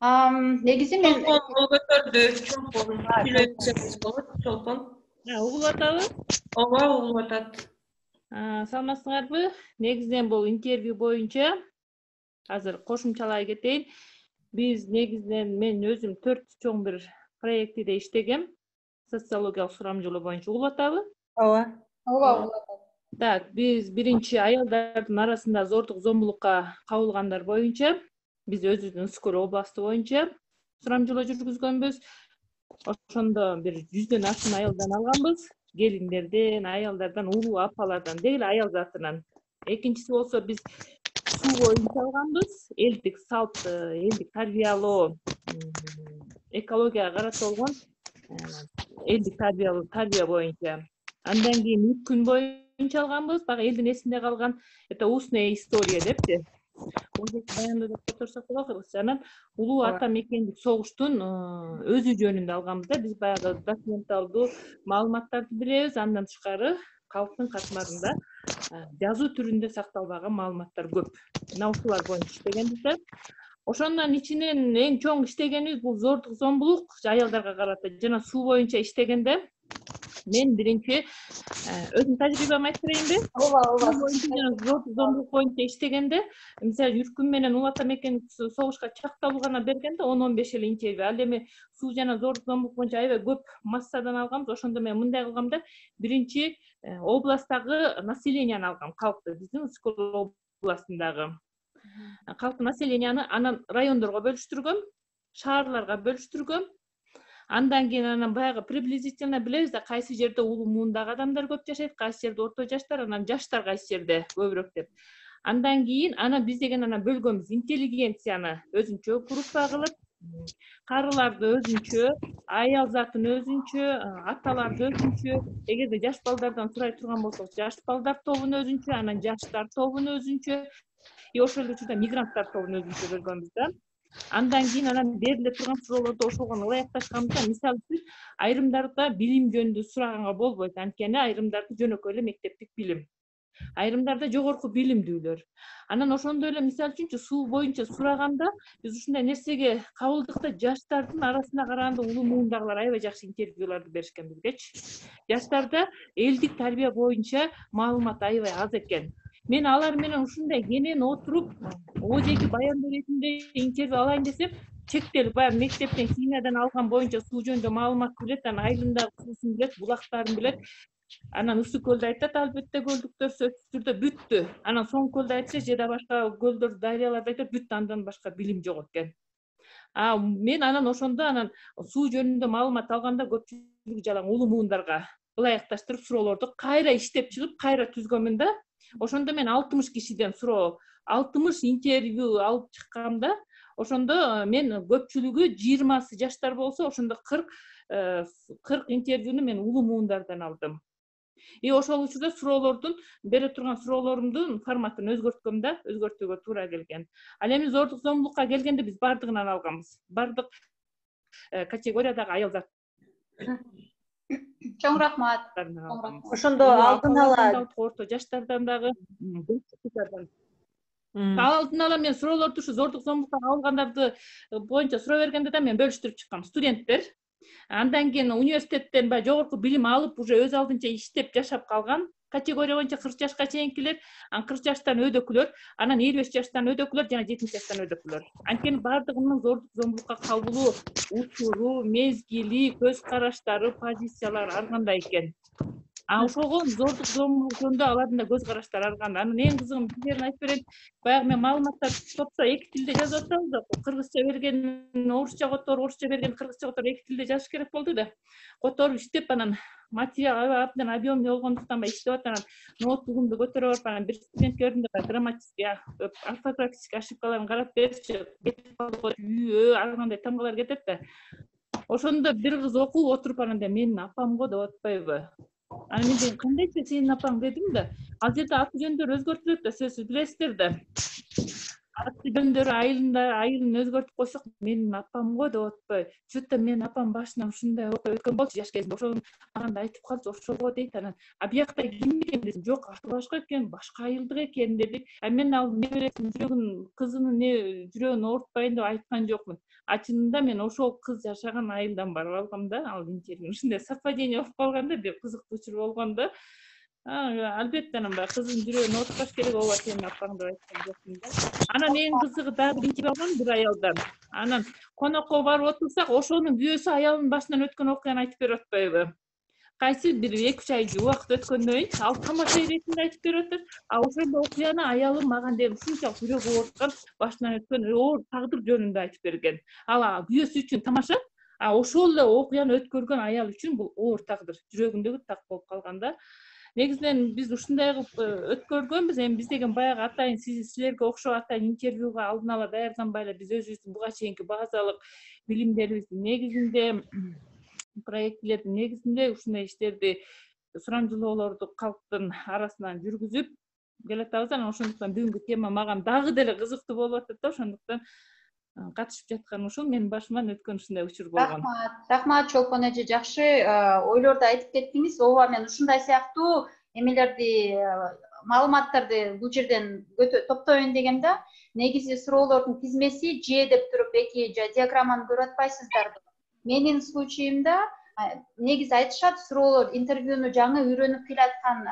Негизи мен Чолпон көтөрдү, чолпон. Сүйлөсөңүз болот, чолпон. Угулуп атабы? Ооба, угулуп атат. Саламатсыңарбы? Негизинен бул интервью боюнча азыр кошумчалай кетейин. Биз негизинен мен өзүм төрт чоң бир проектиде иштегем. Социологиялык сурамжылоо боюнча угулуп атабы? Ооба. Ооба, угулуп атат. Так, биз биринчи аялдардын арасында зордук зомбулукка кабылгандар боюнча биз өзүбүздүн Скор областы боюнча сурамжылоо жүргүзгөнбүз. Ошондо бир жүздөн ашуун аялдан алганбыз. Келиндерден, аялдардан, улуу апалардан, деги эле аял затынан. Экинчиси болсо биз суу боюнча алганбыз. Элдик салт, элдик тарбиялоо, экологияга карата болгон элдик тарбиялоо, тарбия боюнча. Андан кийин үч күн боюнча алганбыз. Бага элдин эсинде калган это устная история депчи. Баяндоо деп которсок болот кыргызча. Анан улуу ата мекендик согуштун өзү жөнүндө алганбыз да. Биз баягы документалдуу маалыматтарды билебиз. Андан тышкары калктын катмарында жазуу түрүндө сакталбаган маалыматтар көп. Мына ушулар боюнча иштегенбиз. Ошондон ичинен эң чоң иштегенибиз бул зордук зомбулук аялдарга карата жана суу боюнча иштегенде мен биринчи өзүмдүн тажрыйбамды айтып берейинби? Ооба, ооба. Зордук зомбулук боюнча иштегенде, мисалы Үркүн менен Улата Мекен согушка чакталуу гана бергенде он он беш эле интервью. Ал эми суу жана зордук зомбулук боюнча аябай көп массадан алганбыз. Ошондо мен мындай кылгам да, биринчи областтагы населенияны алгам, калкты, биздин Скол областындагы калктын населенияны анан райондорго бөлүштүргөм, шаарларга бөлүштүргөм. Андан кийин анан баягы приблизительно билебиз да, кайсы жерде улуу муундагы адамдар көп жашайт, кайсы жерде орто жаштар, анан жаштар кайсы жерде көбүрөөк деп. Андан кийин анан биз деген анан бөлгөнбүз, интеллигенцияны өзүнчө группа кылып, карыларды өзүнчө, аял затын өзүнчө, аталарды өзүнчө, эгерде жаш балдардан сурай турган болсок, жаш балдар тобун өзүнчө, анан жаштар тобун өзүнчө, и ошол эле учурда мигранттар тобун өзүнчө бөлгөнбүз да. Андан кийин анан бериле турган суроолорду ошого ылайыкташканбыз. Мисалы үчүн айрымдарда билим жөнүндө сураганга болбойт, анткени айрымдарды жөнөкөй эле мектептик билим, айрымдарда жогорку билимдүүлөр. Анан ошондой эле мисалы үчүнчү суу боюнча сураганда биз ушундай нерсеге кабылдык да, жаштардын арасына караганда улуу муундагылар аябай жакшы интервьюларды беришкен бизгечи. Жаштарда элдик тарбия боюнча маалымат аябай аз экен. Мен алар менен ушундай кенен отуруп, ожеки баяндоо ретинде интервью алайын десем, чектелип, баягы мектептен химиядан алган боюнча суу жөнүндө маалымат билет, анан айылындагы суусун билет, булактарын билет. Анан Ысык көлдү айтат, албетте көлдүктөр сөзсүз түрдө бүттү. Анан Соң көлдү айтса, же да башка көлдөр, дарыяларды айтат, бүттү, андан башка билим жок экен. А мен анан ошондо анан суу жөнүндө маалымат алганда көпчүлүгү жалаң улуу муундарга ылайыкташтырып суроолорду кайра иштеп чыгып, кайра түзгөнмүн да. Ошондо мен алтымыш кишиден суроо, алтымыш интервью алып чыккам да. Ошондо мен көпчүлүгү жыйырмасы жаштар болсо, ошондо кырк кырк интервьюну мен улуу муундардан алдым. И ошол учурда суроолордун, бере турган суроолорумдун форматын өзгөрткөм да, өзгөртүүгө туура келген. Ал эми зордук зомбулукка келгенде биз бардыгынан алганбыз. Бардык категориядагы аял зат. Чоң рахмат. Ошондо алдын ала орто жаштардан дагы, алдын ала мен суроолорду ушу зордук зомбулукка кабылгандарды боюнча суроо бергенде да мен бөлүштүрүп чыккам. Студенттер, андан кийин университеттен баягы жогорку билим алып, уже өз алдынча иштеп жашап калган категория боюнча кырк жашка чейинкилер, анан кырк жаштан өйдөкүлөр, анан элүү беш жаштан өйдөкүлөр жана жетимиш жаштан өйдөкүлөр. Анткени бардыгынын зордук зомбулукка кабылуу учуру, мезгили, көз караштары, позициялары ар кандай экен. А ошого зордук зомбулук жөнүндө алардын да көз караштары ар кандай. Анан эң кызыгы бизлерин айтып берейин, баягы мен маалыматтарды топсо эки тилде жазып атабыз да, кыргызча берген орусча которуп, орусча берген кыргызча которуп эки тилде жазыш керек болду да. Которуп иштеп анан материал абдан объемный болгондуктан баягы иштеп атып, анан ноутбугумду көтөрө барып, анан бир студентке бердим да, грамматический, орфографический ошибкаларын карап берчи, үй, ар кандай тамгалар кетет да. Ошондо бир кыз окуп отуруп, анан менин апам го деп атпайбы? Анан мен кандайча сенин апаң дедим да. Ал жерде аты жөндөрү өзгөртүлөт да, сөзсүз билесиздер да. Аты жөндөрү айылында айылын өзгөртүп койсок, менин апам го деп атпай. Чөтө менин апам башынан ушундай окуя өткөн болчу жаш кезинде. Ошону анда айтып калчу, ошого дейт. Анан а биякта ким экен десем, жок, аты башка экен, башка айылдык экен деди. А мен ал небересинин жүрөгүн, кызынын не жүрөгүн оорутпайын деп айткан жокмун. А чынында мен ошол кыз жашаган айылдан барып алгам да, ал интервью. Ушундай совпадение болуп калган да, бир кызыктуу учур болгон да. Албетте анан баягы кыздын жүрөгүн оорутпаш керек, ооба сенин апаң деп айткан жокмун да. Анан эң кызыгы дагы бир интервью алгам бир аялдан. Анан конокко барып отурсак, ошонун күйөөсү аялынын башынан өткөн окуяны айтып берип атпайбы? Кайсы бир эки үч ай убакыт өткөндөн кийин ал тамаша иретинде айтып берип атат. А ошондо окуяны аялым мага деп ушунчалык жүрөгү ооруткан, башынан өткөн оор тагдыр жөнүндө айтып берген. Ал күйөөсү үчүн тамаша, а ошол эле окуяны өткөргөн аял үчүн бул оор тагдыр, жүрөгүндөгү так болуп калган да. Негизинен биз ушундай кылып өткөргөнбүз. Эми биз деген баягы атайын силерге окшоо атайын интервьюга алдын ала даярданбай эле биз өзүбүздүн буга чейинки базалык билимдерибиздин негизинде, проектилердин негизинде ушундай иштерди, сурамжылоолорду калктын арасынан жүргүзүп келатабыз. Анан ошондуктан бүгүнкү тема мага дагы деле кызыктуу болуп атат да. Ошондуктан катышып жаткан ушул менин башыман өткөн ушундай учур болгон. Рахмат, рахмат Чолпон эже, жакшы ойлорду айтып кеттиңиз. Ооба, мен ушундай сыяктуу эмелерди маалыматтарды бул жерден топтойюн дегем да, негизи суроолордун тизмеси Ж деп туруп эки диаграмманы көрүп атпайсыздарбы? Менин случайымда негизи айтышат, суроолор интервьюну жаңы үйрөнүп келаткан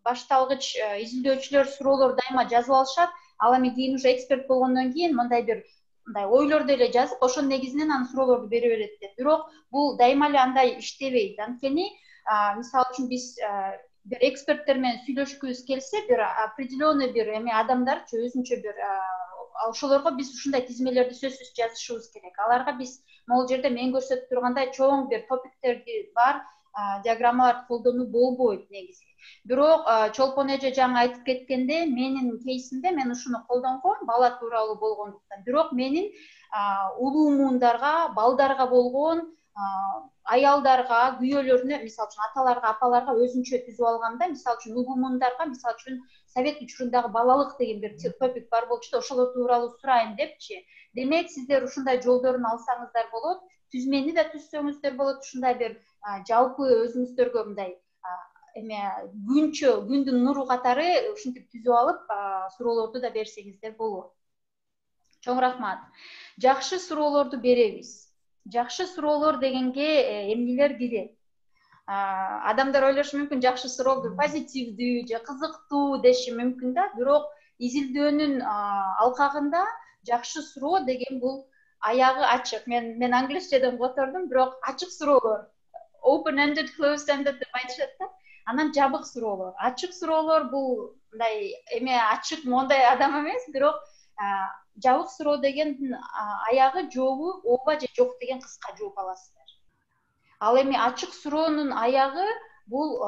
башталгыч изилдөөчүлөр суроолор дайыма жазып алышат. Ал эми кийин уже эксперт болгондон кийин мындай бир мындай ойлорду эле жазып, ошонун негизинен анан суроолорду бере берет деп. Бирок бул дайыма эле андай иштебейт. Анткени мисалы үчүн биз бир эксперттер менен сүйлөшкүбүз келсе, бир определенный бир эме адамдарчы өзүнчө бир ошолорго биз ушундай тизмелерди сөзсүз жазышыбыз керек. Аларга биз могул жерде мен көрсөтүп тургандай чоң бир топиктерди бар диаграммаларды колдонуу болбойт негизи. Бирок Чолпон эже жаңы айтып кеткенде, менин кейсимде мен ушуну колдонгом, бала тууралуу болгондуктан. Бирок менин улуу муундарга, балдарга болгон, аялдарга, күйөөлөрүнө, мисалы үчүн аталарга, апаларга өзүнчө түзүп алгамда, мисалы үчүн улуу муундарга, мисалы үчүн совет учурундагы балалык деген бир топик бар болчу да, ошолор тууралуу сурайын депчи. Демек, сиздер ушундай жолдорун алсаңыздар болот, түзмени да түзсөңүздөр болот, ушундай бир жалпы өзүңүздөргө мындай эме күнчө, күндүн нуру катары ушинтип түзүп алып, суроолорду да берсеңиздер болот. Чоң рахмат. Жакшы суроолорду беребиз. Жакшы суроолор дегенге эмнелер кирет? Адамдар ойлошу мүмкүн, жакшы суроо позитивдүү же кызыктуу деши мүмкүн да, бирок изилдөөнүн алкагында жакшы суроо деген бул аягы ачык. Мен мен англисчеден котордум, бирок ачык суроолор. Open ended, closed ended деп айтышат да. Анан жабык суроолор. Ачык суроолор бул мындай эме ачык мондай адам эмес, бирок жабык суроо деген аягы жообу ооба же жок деген кыска жооп аласыздар. Ал эми ачык суроонун аягы бул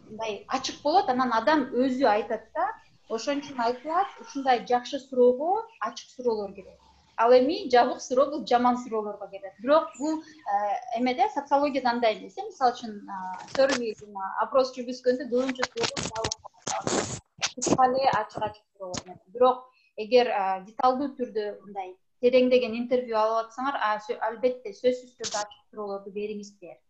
мындай ачык болот, анан адам өзү айтат да. Ошон үчүн айтылат, ушундай жакшы суроого ачык суроолор кирет. Ал эми жабык суроо бул жаман суроолорго кирет. Бирок бул эмеде социологияда андай эмес. Мисалы үчүн survey опрос жүргүзгөндө көбүнчө суроолор кыска эле ачык-ачык суроолор. Бирок эгер деталдуу түрдө мындай тереңдеген интервью алып атсаңар, албетте сөзсүз түрдө ачык суроолорду бериңиздер.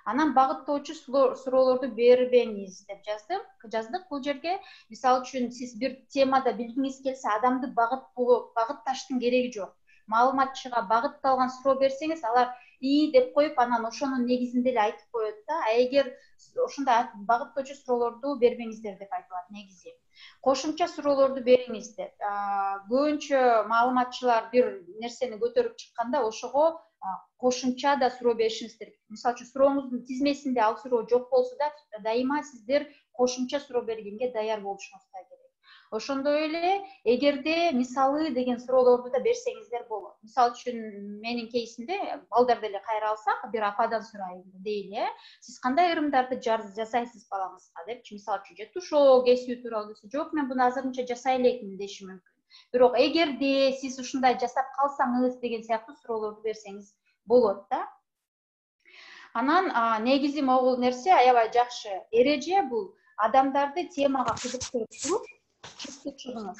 Анан багыттоочу суроолорду бербеңиз деп жаздым. Жаздык бул жерге. Мисалы үчүн сиз бир темада билгиңиз келсе, адамды багыттоо, багытташтын кереги жок. Маалыматчыга багытталган суроо берсеңиз, алар ии деп коюп, анан ошонун негизинде эле айтып коет да. А эгер ошондой багыттоочу суроолорду бербеңиздер деп айтылат негизи. Кошумча суроолорду бериңиздер. Көбүнчө маалыматчылар бир нерсени көтөрүп чыкканда, ошого кошумча да суроо беришиңиз керек. Мисалы үчүн сурооңуздун тизмесинде ал суроо жок болсо да, дайыма сиздер кошумча суроо бергенге даяр болушуңуз керек. Ошондой эле, эгерде мисалы деген суроолорду да берсеңиздер болот. Мисалы үчүн менин кейсимде балдарды эле кайра алсак, бир ападан сурайын дейли, сиз кандай ырымдарды жасайсыз балаңызга депчи, мисалы үчүн же тушоо кесүү тууралуу десе, жок, мен буну азырынча жасай элекмин деши мүмкүн. Бирок эгерде сиз ушундай жасап калсаңыз деген сыяктуу суроолорду берсеңиз болот да. Анан негизи могул нерсе аябай жакшы эреже бул адамдарды темага кызыктырып туруп чыкты чыгыңыз.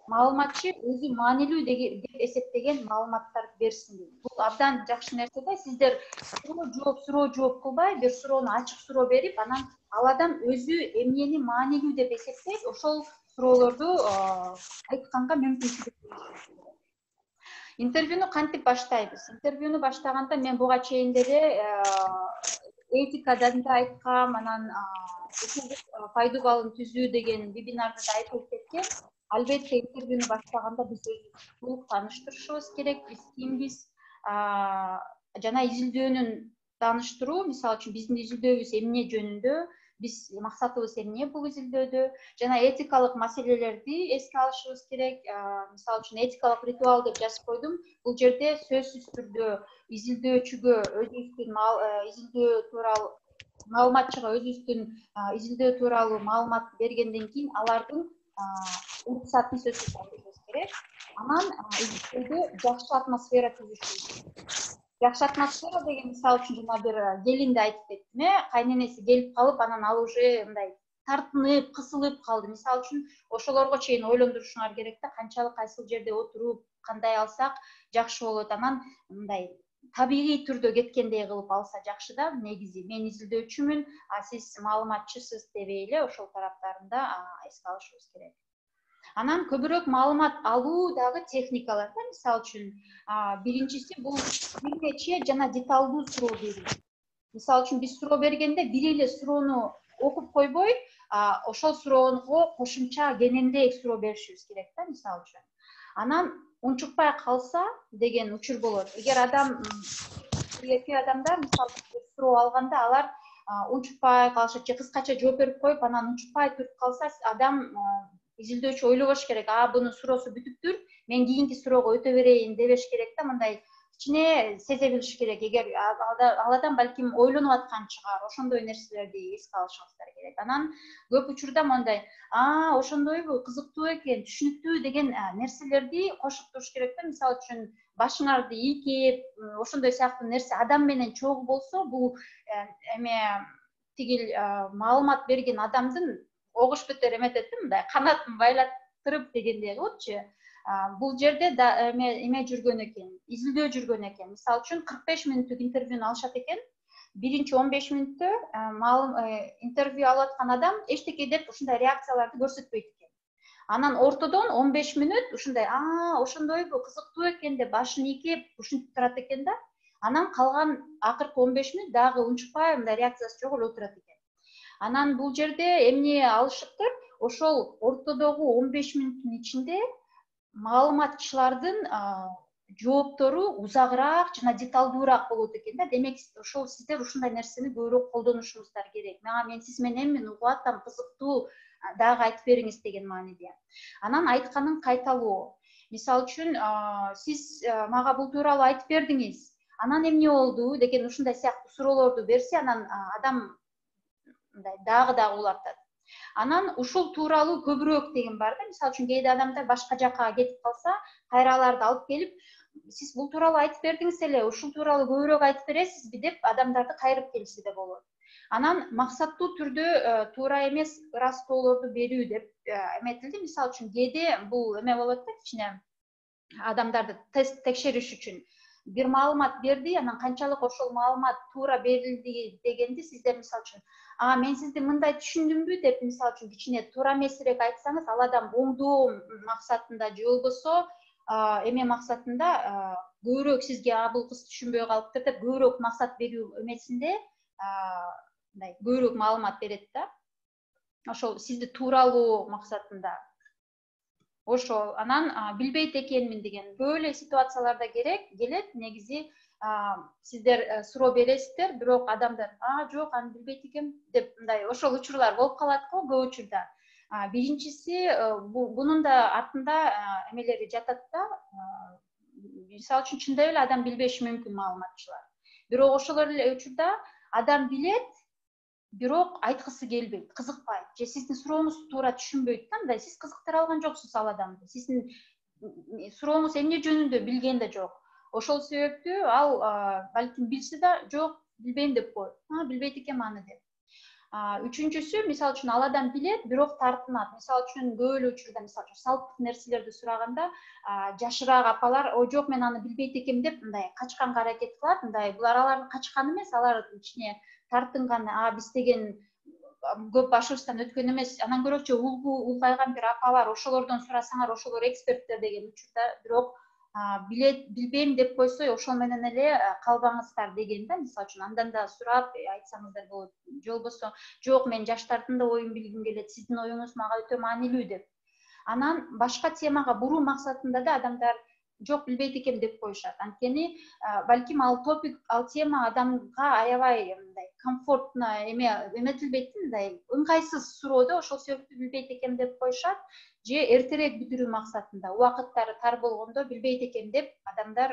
Маалыматчы өзү маанилүү деп эсептеген маалыматтарды берсин дейт. Бул абдан жакшы нерсе да. Сиздер суроо жооп, суроо жооп кылбай, бир суроону ачык суроо берип, анан ал адам өзү эмнени маанилүү деп эсептейт, ошол суроолорду айтканга мүмкүнчүлүк беришиңиз керек. Интервьюну кантип баштайбыз? Интервьюну баштаганда мен буга чейин деле этикадан да айткам, анан пайдуу балын түзүү деген вебинарда да айтылып кеткен. Албетте интервьюну баштаганда биз өзүбүздү толук тааныштырышыбыз керек. Биз кимбиз? Жана изилдөөнүн тааныштыруу, мисалы үчүн биздин изилдөөбүз эмне жөнүндө, биз максатыбыз эмне бул изилдөөдө, жана этикалык маселелерди эске алышыбыз керек. Мисалы үчүн этикалык ритуал деп жазып койдум. Бул жерде сөзсүз түрдө изилдөөчүгө өзүбүздүн изилдөө тууралуу маалыматчыга өзүбүздүн изилдөө тууралуу маалымат бергенден кийин алардын уруксатын сөзсүз алышыбыз керек. Анан изилдөөдө жакшы атмосфера түзүшүбүз керек. Жакшы атмосфера деген мисалы үчүн жана бир келинди айтып кеттим, э, кайненеси келип калып, анан ал уже мындай тартынып, кысылып калды. Мисалы үчүн ошолорго чейин ойлондурушуңар керек да, канчалык кайсыл жерде отуруп, кандай алсак жакшы болот. Анан мындай табигый түрдө кеткендей кылып алса жакшы да. Негизи мен изилдөөчүмүн, а сиз маалыматчысыз дебей эле ошол тараптарын да эске алышыбыз керек. Анан көбүрөөк маалымат алуу дагы техникалар да. Мисалы үчүн, биринчиси бул бир нече жана деталдуу суроо берүү. Мисалы үчүн биз суроо бергенде бир эле суроону окуп койбой, ошол суроого кошумча кененирээк суроо беришибиз керек да, мисалы үчүн. Анан унчукпай калса деген учур болот. Эгер адам эки адамдар мисалы суроо алганда алар унчукпай калышат же кыскача жооп берип коюп, анан унчукпай туруп калса, адам изилдөөчү ойлобош керек. А бунун суроосу бүтүптүр, мен кийинки суроого өтө берейин дебеш керек да, мындай кичине сезе билиш керек. Эгер ал адам балким ойлонуп аткан чыгар, ошондой нерселерди эске алышыңыздар керек. Анан көп учурда мындай, а ошондойбу, кызыктуу экен, түшүнүктүү деген нерселерди кошуп туруш керек да. Мисалы үчүн башыңарды ийкеп, ошондой сыяктуу нерсе адам менен чогуу болсо, бул эме тигил маалымат берген адамдын огуш бетер эметет да, мындай канатын байлаттырып дегендей кылыпчы. Бул жерде эме жүргөн экен, изилдөө жүргөн экен. Мисалы үчүн кырк беш мүнөттүк интервьюну алышат экен. Биринчи он беш мүнөттө интервью алып аткан адам эчтеке деп ушундай реакцияларды көрсөтпөйт экен. Анан ортодон он беш мүнөт ушундай, а ошондойбу, кызыктуу экен деп башын ийкеп ушинтип турат экен да. Анан калган акыркы он беш мүнөт дагы унчукпай, мындай реакциясы жок эле отурат экен. Анан бул жерде эмне алышыптыр? Ошол ортодогу он беш мүнөттүн ичинде маалыматчылардын жооптору узагыраак жана деталдуураак болот экен да. Демек, ошол сиздер ушундай нерсени көбүрөөк колдонушуңуздар керек. Мага мен сиз мененмин, угуп атам, кызыктуу, дагы айтып бериңиз деген мааниде. Анан айтканын кайталоо. Мисалы үчүн, сиз мага бул тууралуу айтып бердиңиз, анан эмне болду деген ушундай сыяктуу суроолорду берсе, анан адам дагы дагы улантат. Анан ушул тууралуу көбүрөөк деген бар да. Мисалы үчүн кээде адамдар башка жакка кетип калса, кайраларды алып келип, сиз бул тууралуу айтып бердиңиз эле, ушул тууралуу көбүрөөк айтып бересизби деп адамдарды кайрып келсе да болот. Анан максаттуу түрдө туура эмес ыраазоолорду берүү деп эметилди. Мисалы үчүн кээде бул эме болот да, кичине адамдарды тест текшериш үчүн бир маалымат берди, анан канчалык ошол маалымат туура берилди дегенди сиздер мисалы үчүн, а мен сизди мындай түшүндүмбү деп мисалы үчүн кичине туура эмесирээк айтсаңыз, ал адам оңдоо максатында же болбосо эме максатында көбүрөөк сизге а бул кыз түшүнбөй калыптыр деп көбүрөөк максат берүү эмесинде мындай көбүрөөк маалымат берет да. Ошол сизди тууралоо максатында. Ошол анан билбейт экенмин деген көп эле ситуацияларда керек келет. Негизи сиздер суроо бересиздер, бирок адамдар а жок, аны билбейт экенм деп мындай ошол учурлар болуп калат го көп учурда. Биринчиси бунун да артында эмелери жатат да. Мисалы үчүн чындап эле адам билбеши мүмкүн маалыматчылар. Бирок ошол эле учурда адам билет, бирок айткысы келбейт, кызыкпайт же сиздин сурооңузду туура түшүнбөйт да, мындай сиз кызыктыра алган жоксуз ал адамды. Сиздин сурооңуз эмне жөнүндө билген да жок. Ошол себептүү ал балким билсе да жок, билбейм деп коет. А билбейт экенм аны деп. Үчүнчүсү, мисалы үчүн ал адам билет, бирок тартынат. Мисалы үчүн көп эле учурда мисалы үчүн салттык нерселерди сураганда жашыраак апалар, ой жок, мен аны билбейт экенм деп мындай качканга аракет кылат. Мындай булар алардын качканы эмес, алар кичине тартынган, а биз деген көп башыбыздан өткөн эмес. Анан көрөчү улгайган бир апа бар, ошолордон сурасаңар, ошолор эксперттер деген учурда, бирок билет, билбейм деп койсо, ошол менен эле калбаңыздар деген да. Мисалы үчүн андан да сурап айтсаңыздар болот. Же болбосо, жок, мен жаштардын да оюн билгим келет, сиздин оюңуз мага өтө маанилүү деп. Анан башка темага буруу максатында да адамдар жок, билбейт экенм деп коюшат. Анткени балким ал топик, ал тема адамга аябай мындай комфортно эме эметилбейт, мындай ыңгайсыз суроо да, ошол себептүү билбейт экенм деп коюшат. Же эртерээк бүтүрүү максатында, убакыттары тар болгондо билбейт экенм деп адамдар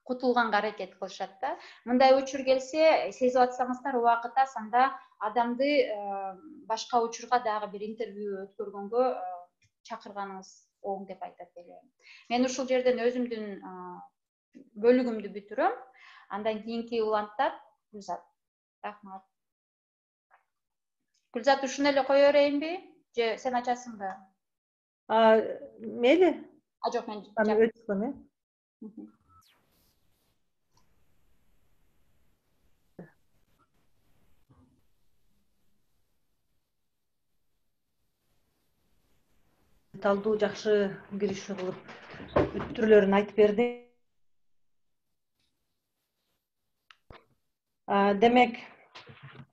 кутулганга аракет кылышат да. Мындай учур келсе, сезип атсаңыздар убакыт аз, анда адамды башка учурга дагы бир интервью өткөргөнгө чакырганыңыз оң деп айтат элем. Мен ушул жерден өзүмдүн бөлүгүмдү бүтүрөм. Андан кийинки уланттар Гүлзат. Рахмат. Гүлзат, ушуну эле кое берейинби? Же сен ачасыңбы? Мейли. А жок, мен өтүп деталдуу жакшы киришүү кылып түрлөрүн айтып берди. Демек,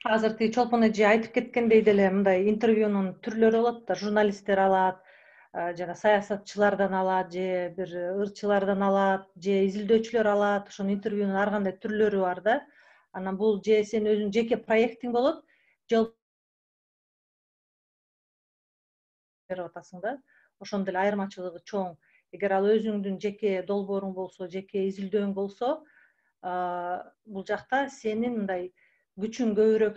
азыр тиги Чолпон эже айтып кеткендей деле мындай интервьюнун түрлөрү болот да, журналисттер алат, жана саясатчылардан алат, же бир ырчылардан алат, же изилдөөчүлөр алат. Ошонун интервьюнун ар кандай түрлөрү бар да. Анан бул же сен өзүңдүн жеке проектиң болот, же берип атасың да. Ошондон деле айырмачылыгы чоң. Эгер ал өзүңдүн жеке долбооруң болсо, жеке изилдөөң болсо, бул жакта сенин мындай күчүң көбүрөөк,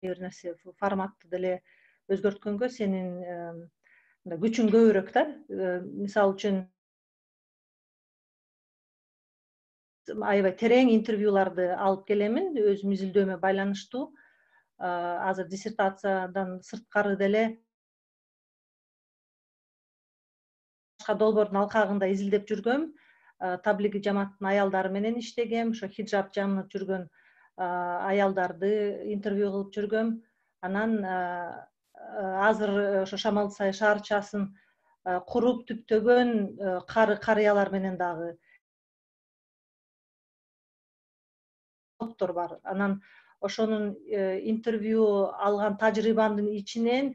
бир нерсе форматты деле өзгөрткөнгө сенин мындай күчүң көбүрөөк да. Мисалы үчүн аябай терең интервьюларды алып келемин өзүм изилдөөмө байланыштуу. Азыр диссертациядан сырткары деле башка долбоордун алкагында изилдеп жүргөм. Таблиги жамааттын аялдары менен иштегем, ошо хиджаб жамынып жүргөн аялдарды интервью кылып жүргөм. Анан азыр ошо Шамал-Сай шаарчасын куруп түптөгөн кары карыялар менен дагы бар. Анан ошонун интервью алган тажрыйбамдын ичинен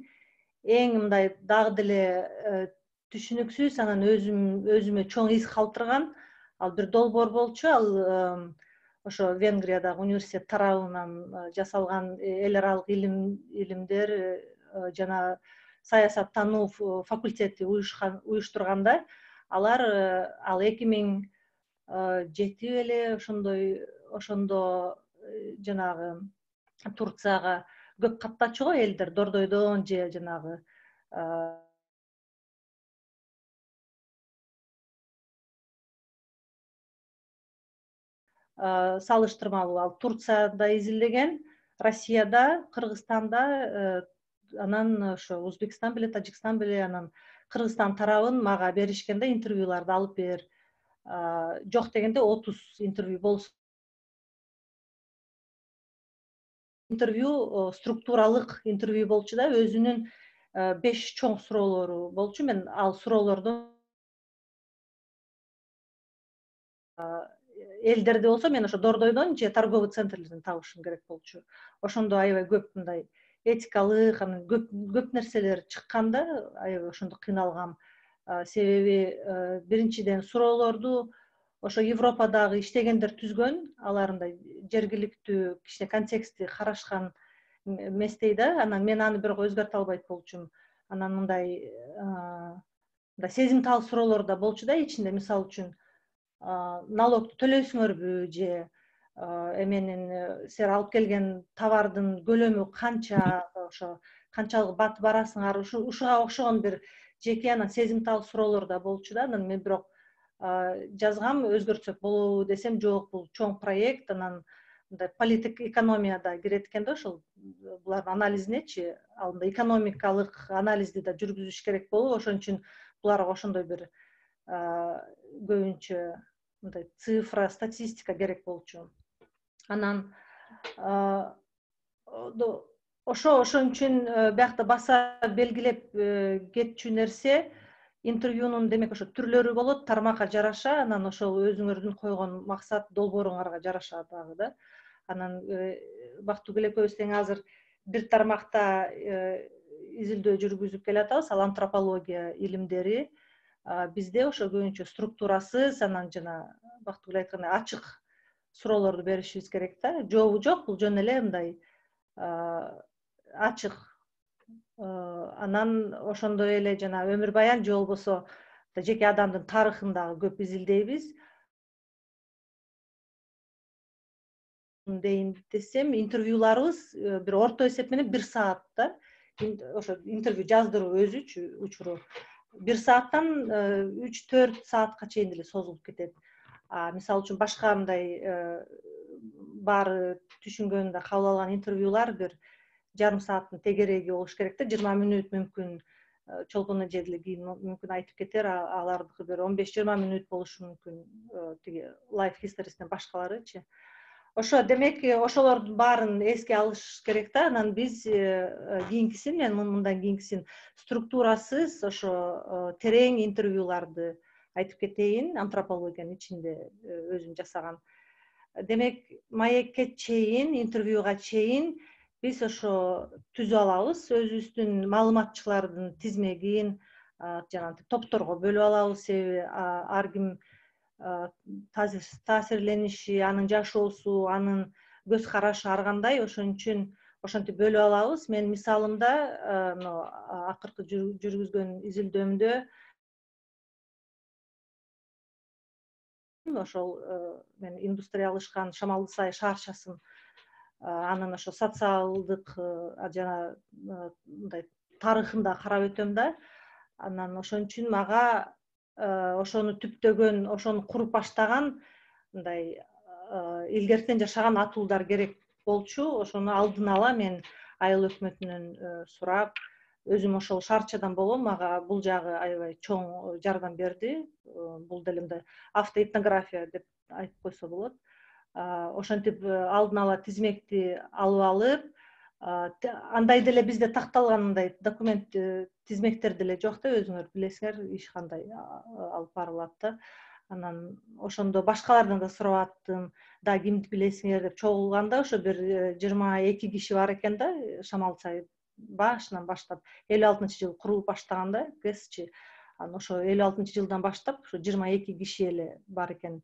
эң мындай дагы деле түшүнүксүз, анан өзүм өзүмө чоң из калтырган ал бир долбоор болчу. Ал ошо Венгриядагы университет тарабынан жасалган эл аралык илим илимдер жана саясаттануу факультети уюштурганда, алар ал эки миң жети беле ошондой ошондо жанагы Турцияга көп каттачу го элдер Дордойдон же жанагы салыштырмалуу ал Турцияда изилдеген, Россияда, Кыргызстанда, анан ошо Өзбекстан беле, Тажикстан беле, анан Кыргызстан тарабын мага беришкен да, интервьюларды алып бер. Жок дегенде отуз интервью болсо. Интервью структуралык интервью болчу да, өзүнүн беш чоң суроолору болчу. Мен ал суроолордон элдерди болсо мен ошо Дордойдон же торговый центрлерден табышым керек болчу. Ошондо аябай көп мындай этикалык, анан көп көп нерселер чыккан да, аябай ошондо кыйналгам. Себеби биринчиден суроолорду ошо Европадагы иштегендер түзгөн, алар мындай жергиликтүү кичине контекстти карашкан эместей да. Анан мен аны бирок өзгөртө албайт болчумун. Анан мындай мындай сезимтал суроолор да болчу да ичинде. Мисалы үчүн налогду төлөйсүңөрбү, же эменин силер алып келген товардын көлөмү канча, ошо канчалык бат барасыңар, ушуга окшогон бир жеке анан сезимтал суроолор да болчу да. Анан мен бирок жазгам, өзгөртсөк болобу десем, жок, бул чоң проект, анан мындай политик экономия да кирет экен да ошол булардын анализинечи. Ал мындай экономикалык анализди да жүргүзүш керек болуп, ошон үчүн буларга ошондой бир көбүнчө мындай цифра, статистика керек болчу. Анан ошо ошон үчүн биякта баса белгилеп кетчү нерсе, интервьюнун демек ошо түрлөрү болот, тармакка жараша, анан ошол өзүңөрдүн койгон максат, долбооруңарга жараша дагы да. Анан Бактыгүл экөөбүз тең азыр бир тармакта изилдөө жүргүзүп келатабыз, ал антропология илимдери. Бизде ошо көбүнчө структурасыз, анан жана Бактыгүл айткандай ачык суроолорду беришибиз керек да. Жообу жок, бул жөн эле мындай ачык. Анан ошондой эле жана өмүр баян же болбосо жеке адамдын тарыхын дагы көп изилдейбиз. Дейин десем, интервьюларыбыз бир орто эсеп менен бир саат да. Ошо интервью жаздыруу өзүчү учуру бир сааттан үч төрт саатка чейин деле созулуп кетет. Мисалы үчүн башка мындай баары түшүнгөнүндө кабыл алган интервьюлар бир жарым сааттын тегереги болуш керек да. жыйырма мүнөт мүмкүн, Чолпон эже деле кийин мүмкүн айтып кетер, алардыкы бир он беш жыйырма мүнөт болушу мүмкүн, тиги Life History'синен башкаларычы. ошо демек ошолордун баарын эске алыш керек да. Анан биз кийинкисин, мен мындан кийинкисин структурасыз ошо терең интервьюларды айтып кетейин, антропологиянын ичинде өзүм жасаган. Демек маекке чейин, интервьюга чейин биз ошо түзүп алабыз, өзүбүздүн маалыматчылардын тизмегин жанагы топторго бөлүп алабыз. Себеби ар ким таасирлениши, анын жашоосу, анын көз карашы ар кандай, ошон үчүн ошентип бөлүп алабыз. Мен мисалымда мына акыркы жүргүзгөн изилдөөмдө ошол мен индустриялашкан Шамалды Сай шаарчасын, анын ошо социалдык жана мындай тарыхын да карап өтөм да. Анан ошон үчүн мага ошону түптөгөн, ошону куруп баштаган мындай илгертен жашаган атуулдар керек болчу. Ошону алдын ала мен айыл өкмөтүнөн сурап, өзүм ошол шаарчадан болгом, мага бул жагы аябай чоң жардам берди. Бул деле мындай автоэтнография деп айтып койсо болот. Ошентип алдын ала тизмекти алып алып, андай деле бизде такталган мындай документ тизмектер деле жок да, өзүңөр билесиңер иш кандай алып барылат да. Анан ошондо башкалардан да сурап аттым, да кимди билесиңер деп. Чогулганда ошо бир жыйырма эки киши бар экен да, Шамал Сай башынан баштап элүү алтынчы жылы курулуп баштаганда ГЭСчи. Анан ошо элүү алтынчы жылдан баштап ошо жыйырма эки киши эле бар экен.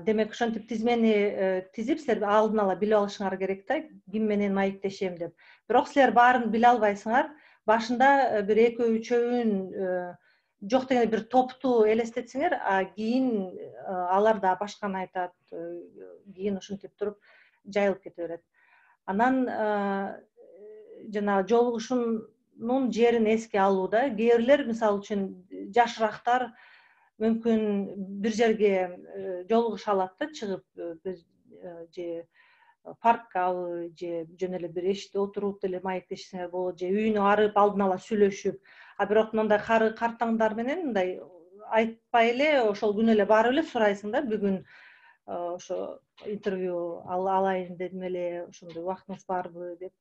Демек ошентип тизмени тизип, силер алдын ала билип алышыңар керек да, ким менен маектешем деп. Бирок силер баарын биле албайсыңар. Башында бир экөө үчөөүн жок дегенде бир топту элестетсеңер, а кийин алар да башканы айтат, кийин ошентип туруп жайылып кете берет. Анан жанагы жолугушуунун жерин эске алууда кээ бирлер, мисалы үчүн жашырактар мүмкүн бир жерге жолугуша алат да, чыгып же парккабы, же жөн эле бир эшикте отуруп деле маектешсеңер болот, же үйүнө барып алдын ала сүйлөшүп. А бирок мындай кары картаңдар менен мындай айтпай эле ошол күнү эле барып эле сурайсың да, бүгүн ошо интервью алайын дедим эле, ошондой убактыңыз барбы деп,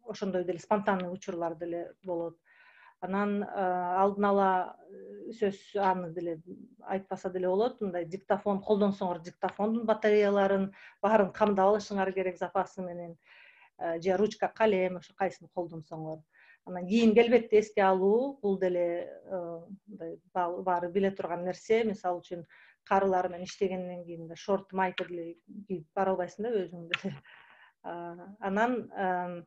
ошондой деле спонтанный учурлар деле болот. Анан алдын ала сөз аны деле айтпаса деле болот, мындай диктофон колдонсоңор, диктофондун батареяларын баарын камдап алышыңар керек запасы менен, же ручка, калем, ошо кайсысын колдонсоңор. Анан кийим келбетти эске алуу, бул деле мындай баары биле турган нерсе. Мисалы үчүн карылар менен иштегенден кийин шорт майка деле кийип бара албайсың да өзүң деле. Анан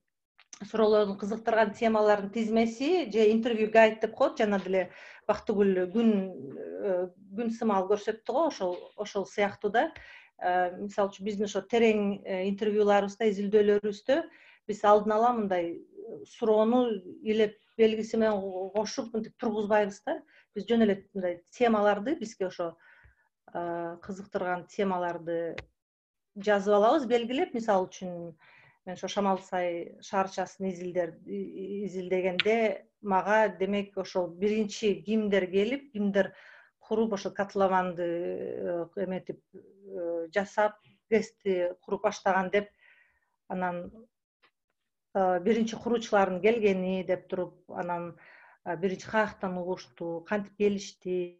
суроолордун кызыктырган темалардын тизмеси же интервью гайд деп коет, жана деле Бактыгүл күн күн сымал көрсөттү го, ошол ошол сыяктуу да. Мисалы үчүн биздин ошо терең интервьюларыбызда, изилдөөлөрүбүздө биз алдын ала мындай суроону илеп белгиси менен кошуп мынтип тургузбайбыз да. Биз жөн эле мындай темаларды, бизге ошо кызыктырган темаларды жазып алабыз, белгилеп. Мисалы үчүн мен ошо Шамал Сай шаарчасын изилдер изилдегенде мага демек ошол биринчи кимдер келип, кимдер куруп ошо котлованды эметип жасап, ГЭСти куруп баштаган деп, анан биринчи куруучулардын келгени деп туруп, анан биринчи каяктан угушту, кантип келишти,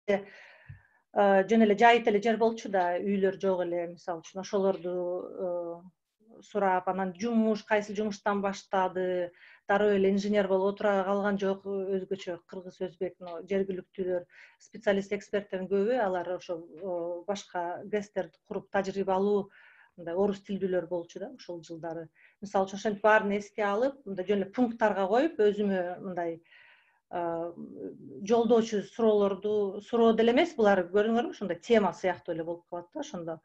жөн эле жайыт эле жер болчу да, үйлөр жок эле, мисалы үчүн ошолорду сурап, анан жумуш, кайсы жумуштан баштады, дароо эле инженер болуп отура калган жок, өзгөчө кыргыз, өзбек, жергиликтүүлөр, специалист эксперттердин көбү алар ошо башка ГЭСтерди куруп тажрыйбалуу мындай орус тилдүүлөр болчу да ошол жылдары. Мисалы үчүн ошентип баарын эске алып, мындай жөн эле пункттарга коюп, өзүмө мындай жолдоочу суроолорду, суроо деле эмес, булар көрдүңөрбү, ошондой тема сыяктуу эле болуп калат да ошондо.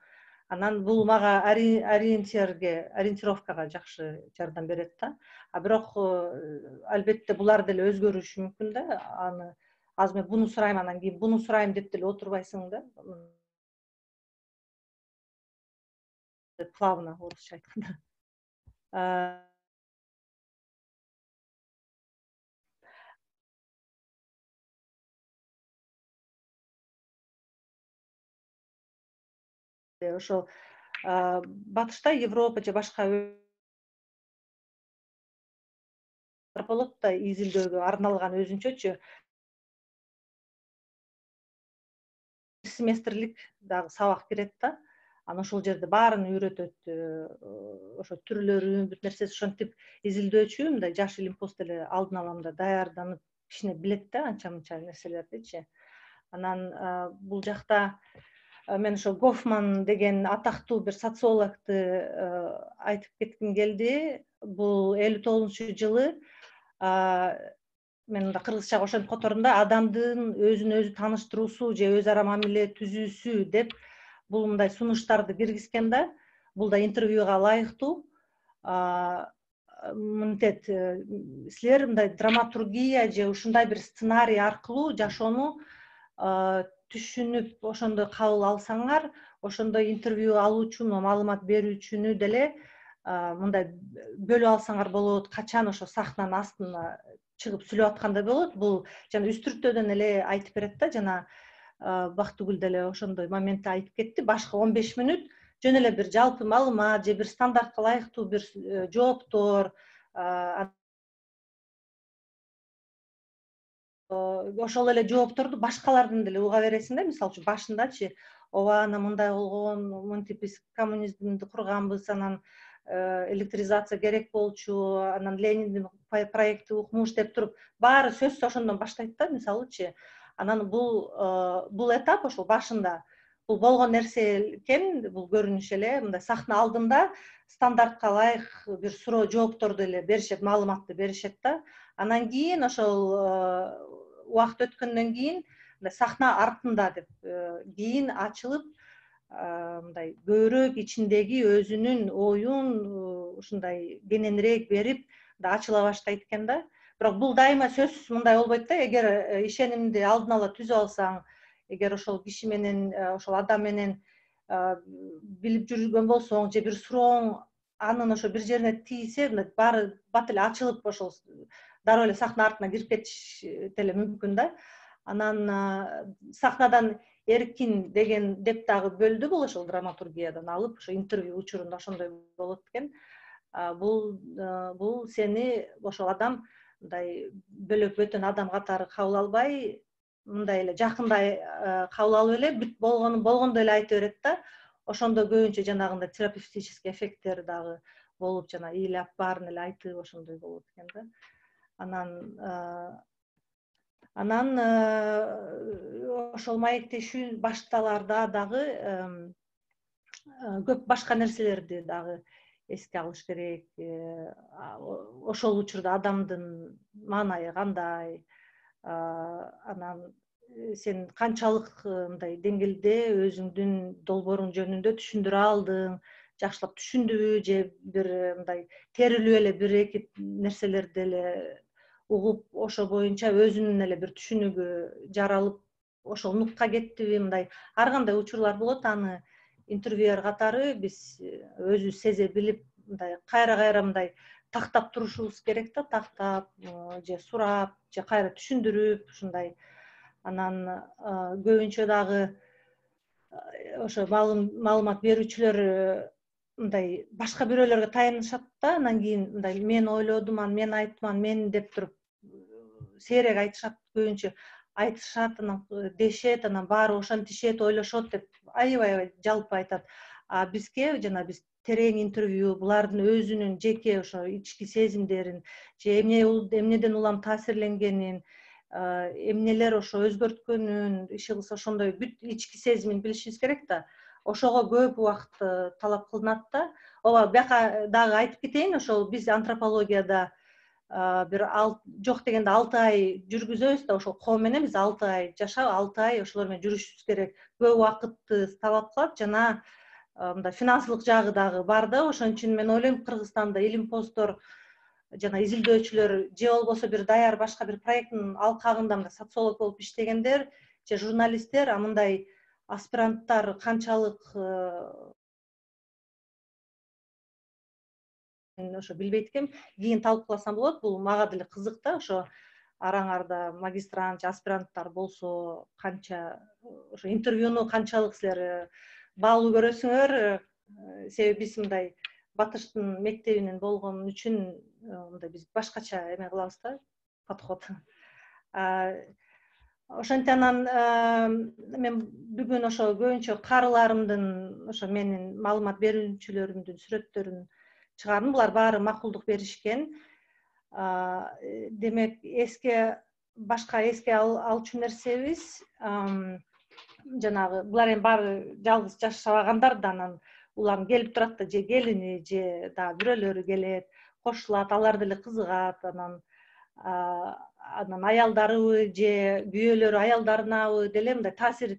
Анан бул мага ориентирге, ориентировкага жакшы жардам берет да. А бирок албетте булар деле өзгөрүшү мүмкүн да. Аны азыр мен буну сурайм, анан кийин буну сурайм деп деле отурбайсың да. Плавно, орусча айтканда. ошол батышта Европа же башка болот да изилдөөгө арналган өзүнчөчү семестрлик дагы сабак кирет да. Анан ошол жерде баарын үйрөтөт, ошо түрлөрүн, бүт нерсеси ошентип изилдөөчү мындай жаш илимпоз деле алдын ала мындай даярданып кичине билет да анча мынча нерселердичи. Анан бул жакта мен ошо Гофман деген атактуу бир социологду айтып кетким келди. Бул элүү тогузунчу жылы мен мында кыргызчага ошентип котордум да, адамдын өзүн өзү тааныштыруусу же өз ара мамиле түзүүсү деп бул мындай сунуштарды киргизген да. Бул да интервьюга ылайыктуу. Мынтет силер мындай драматургия же ушундай бир сценарий аркылуу жашоону түшүнүп ошондой кабыл алсаңар, ошондой интервью алуучуну, маалымат берүүчүнү деле мындай бөлүп алсаңар болот. Качан ошо сахнанын астына чыгып сүйлөп аткандай болот. Бул жана үстүртөдөн эле айтып берет да. Жана Бактыгүл деле ошондой моментте айтып кетти. Башкы он беш мүнөт жөн эле бир жалпы маалымат же бир стандартка ылайыктуу бир жооптор, ошол эле жоопторду башкалардан деле уга бересиң да. Мисалы үчүн башындачы, ооба анан мындай болгон, мынтип биз коммунизмди курганбыз, анан электризация керек болчу, анан Лениндин проекти укмуш деп туруп, баары сөз ошондон баштайт да, мисалычы. Анан бул бул этап ошол башында бул болгон нерсе экен, бул көрүнүш эле мындай сахна алдында стандартка ылайык бир суроо жоопторду эле беришет, маалыматты беришет да. Анан кийин ошол убакыт өткөндөн кийин сахна артында деп кийин ачылып мындай көбүрөөк ичиндеги өзүнүн оюн ушундай кененирээк берип ачыла баштайт экен да. Бирок бул дайыма сөзсүз мындай болбойт да. Эгер ишенимди алдын ала түзүп алсаң, эгер ошол киши менен, ошол адам менен билип жүргөн болсоң, же бир сурооң анын ошо бир жерине тийсе, баары бат эле ачылып ошол дароо эле сахна артына кирип кетиш деле мүмкүн да. Анан сахнадан эркин деген деп дагы бөлдү бул ошол драматургиядан алып, ошо интервью учурунда ошондой болот экен. Бул бул сени ошол адам мындай бөлөк бөтөн адам катары кабыл албай, мындай эле жакындай кабыл алып эле бүт болгону болгондой эле айта берет да. Ошондо көбүнчө жанагындай терапевтический эффекттер дагы болуп, жана ыйлап баарын эле айтып ошондой болот экен да. Анан анан ошол маектешүү башталарда дагы көп башка нерселерди дагы эске алыш керек. Ошол учурда адамдын маанайы кандай, анан сен канчалык мындай деңгээлде өзүңдүн долбооруң жөнүндө түшүндүрө алдың, жакшылап түшүндүбү, же бир мындай терилип эле бир эки нерселерди эле угуп, ошо боюнча өзүнүн эле бир түшүнүгү жаралып, ошол нукка кеттиби, мындай ар кандай учурлар болот. Аны интервьюер катары биз өзүбүз сезе билип, мындай кайра-кайра мындай тактап турушубуз керек да, тактап же сурап, же кайра түшүндүрүп ушундай. Анан көбүнчө дагы ошо маалымат берүүчүлөр мындай башка бирөөлөргө таянышат да. Анан кийин мындай мен ойлодум, мен айттым, мен деп туруп сейрек айтышат, көбүнчө айтышат, анан дешет, анан баары ошентишет, ойлошот деп аябай жалпы айтат. А бизге жана биз терең интервью, булардын өзүнүн жеке ошо ички сезимдерин, же эмнеден улам таасирленгенин, эмнелер ошо өзгөрткөнүн, иши кылса ошондой бүт ички сезимин билишибиз керек да. Ошого көп убакыт талап кылынат да. Ооба, бияка дагы айтып кетейин, ошол биз антропологияда бир жок дегенде алты ай жүргүзөбүз да, ошол коом менен биз алты ай жашап, алты ай ошолор менен жүрүшүбүз керек. Көп убакытты талап кылат, жана мындай финансылык жагы дагы бар да. Ошон үчүн мен ойлойм, Кыргызстанда илимпоздор жана изилдөөчүлөр, же болбосо бир даяр башка бир проекттин алкагында мындай социолог болуп иштегендер, же журналисттер, а мындай аспиранттар канчалык ошо билбейт экенм. Кийин талкууласам болот. Бул мага деле кызык да. Ошо араңарда магистрант же аспиранттар болсо, канча ошо интервьюну канчалык силер баалуу көрөсүңөр, себеби биз мындай батыштын мектебинен болгон үчүн мындай биз башкача эме кылабыз да, подход. Ошентип анан мен бүгүн ошо көбүнчө карыларымдын, ошо менин маалымат берүүчүлөрүмдүн сүрөттөрүн чыгардым. Булар баары макулдук беришкен. Демек, эске башка эске алчу нерсебиз, жанагы булар эми баары жалгыз жашабагандар да, анан улам келип турат да, же келини, же дагы бирөөлөрү келет, кошулат, алар деле кызыгат, анан анан аялдарыбы же күйөөлөрү аялдарынабы деле мындай таасир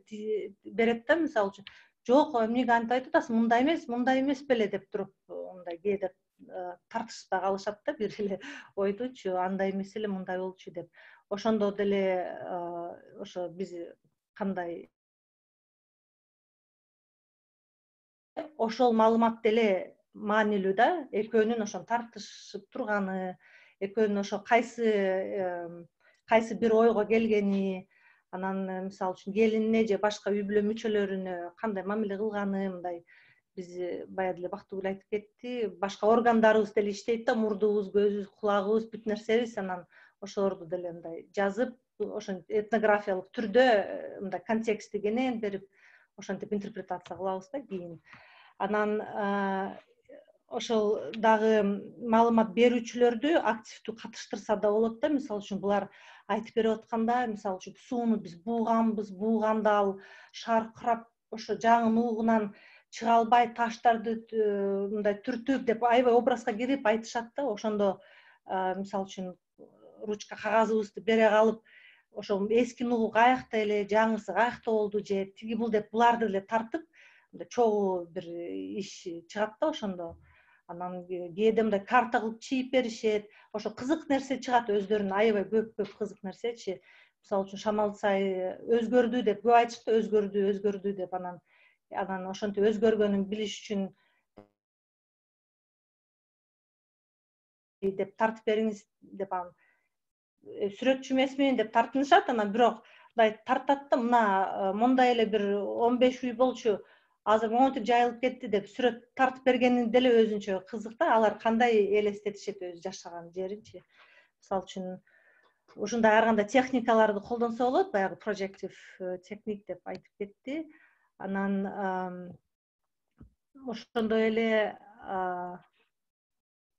берет да. Мисалы үчүн, жок, эмнеге антип айтып атасың, мындай эмес, мындай эмес беле деп туруп, мындай кээде тартышпай калышат да, бир эле ойдучу, андай эмес эле, мындай болчу деп. Ошондо деле ошо биз кандай ошол маалымат деле маанилүү да, экөөнүн ошо тартышып турганы, экөөнүн ошо кайсы кайсы бир ойго келгени, анан мисалы үчүн келинине же башка үй бүлө мүчөлөрүнө кандай мамиле кылганы, мындай биз баягы деле Бактыгүл айтып кетти, башка органдарыбыз деле иштейт да, мурдубуз, көзүбүз, кулагыбыз, бүт нерсебиз, анан ошолорду деле мындай жазып, ошо этнографиялык түрдө мындай контекстти кенен берип, ошентип интерпретация кылабыз да кийин. Анан ошол дагы маалымат берүүчүлөрдү активдүү катыштырса да болот да. Мисалы үчүн, булар айтып берип атканда, мисалы үчүн, сууну биз бууганбыз, бууганда ал шаркырап ошо жаңын угунан чыга албай, таштарды мындай түртүп деп аябай образга кирип айтышат да. Ошондо мисалы үчүн ручка кагазыбызды бере калып, ошо эски нугу каякта эле, жаңысы каякта болду, же тиги бул деп буларды деле тартып, мындай чогуу бир иш чыгат да ошондо. Анан кээде мындай карта кылып чийип беришет. Ошо кызык нерсе чыгат, өздөрүнүн аябай көп-көп кызык нерсечи. Мисалы үчүн, Шамал Сай өзгөрдү деп көп айтышты, өзгөрдү, өзгөрдү деп. Анан анан ошентип өзгөргөнүн билиш үчүн деп тартып бериңиз деп, анан сүрөтчү эмесмин деп тартынышат. Анан бирок мындай тартат да, мына мондай эле бир он беш үй болчу, азыр монтип жайылып кетти деп сүрөт тартып бергени деле өзүнчө кызык да. Алар кандай элестетишет өзү жашаган жеринчи. Мисалы үчүн, ушундай ар кандай техникаларды колдонсо болот, баягы projective техник деп айтып кетти. Анан ошондой эле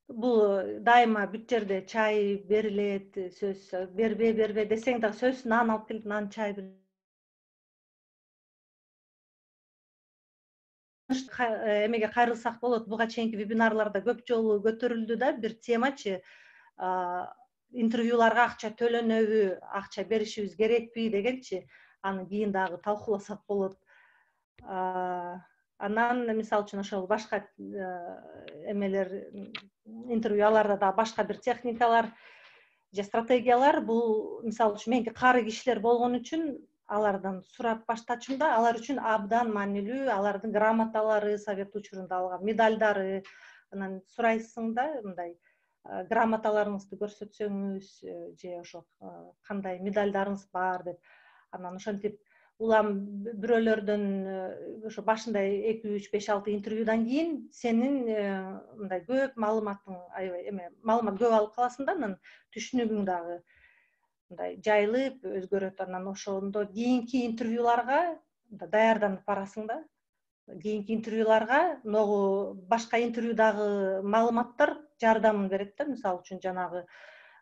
бул дайыма бүт жерде чай берилет, сөз бербе бербе десең дагы сөз нан алып келип, нан чай эмеге кайрылсак болот. Буга чейинки вебинарларда көп жолу көтөрүлдү да бир темачы, интервьюларга акча төлөнөбү, акча беришибиз керекпи дегенчи. Аны кийин дагы талкууласак болот. Анан мисалы үчүн, ошол башка эмелер, интервьюларда да башка бир техникалар же стратегиялар, бул мисалы үчүн меники кары кишилер болгон үчүн алардан сурап баштачумда, алар үчүн абдан маанилүү, алардын грамоталары, совет учурунда алган медалдары. Анан сурайсың да, мындай грамоталарыңызды көрсөтсөңүз же ошо кандай медалдарыңыз бар деп. Анан ошентип улам бирөөлөрдөн ошо башында эки үч беш алты интервьюдан кийин сенин мындай көп маалыматың, аябай эме маалымат көп алып каласың да, анан түшүнүгүң дагы мындай жайылып өзгөрөт. Анан ошондо кийинки интервьюларга даярданып барасың да. Кийинки интервьюларга могу башка интервьюдагы маалыматтар жардамын берет да. Мисалы үчүн, жанагы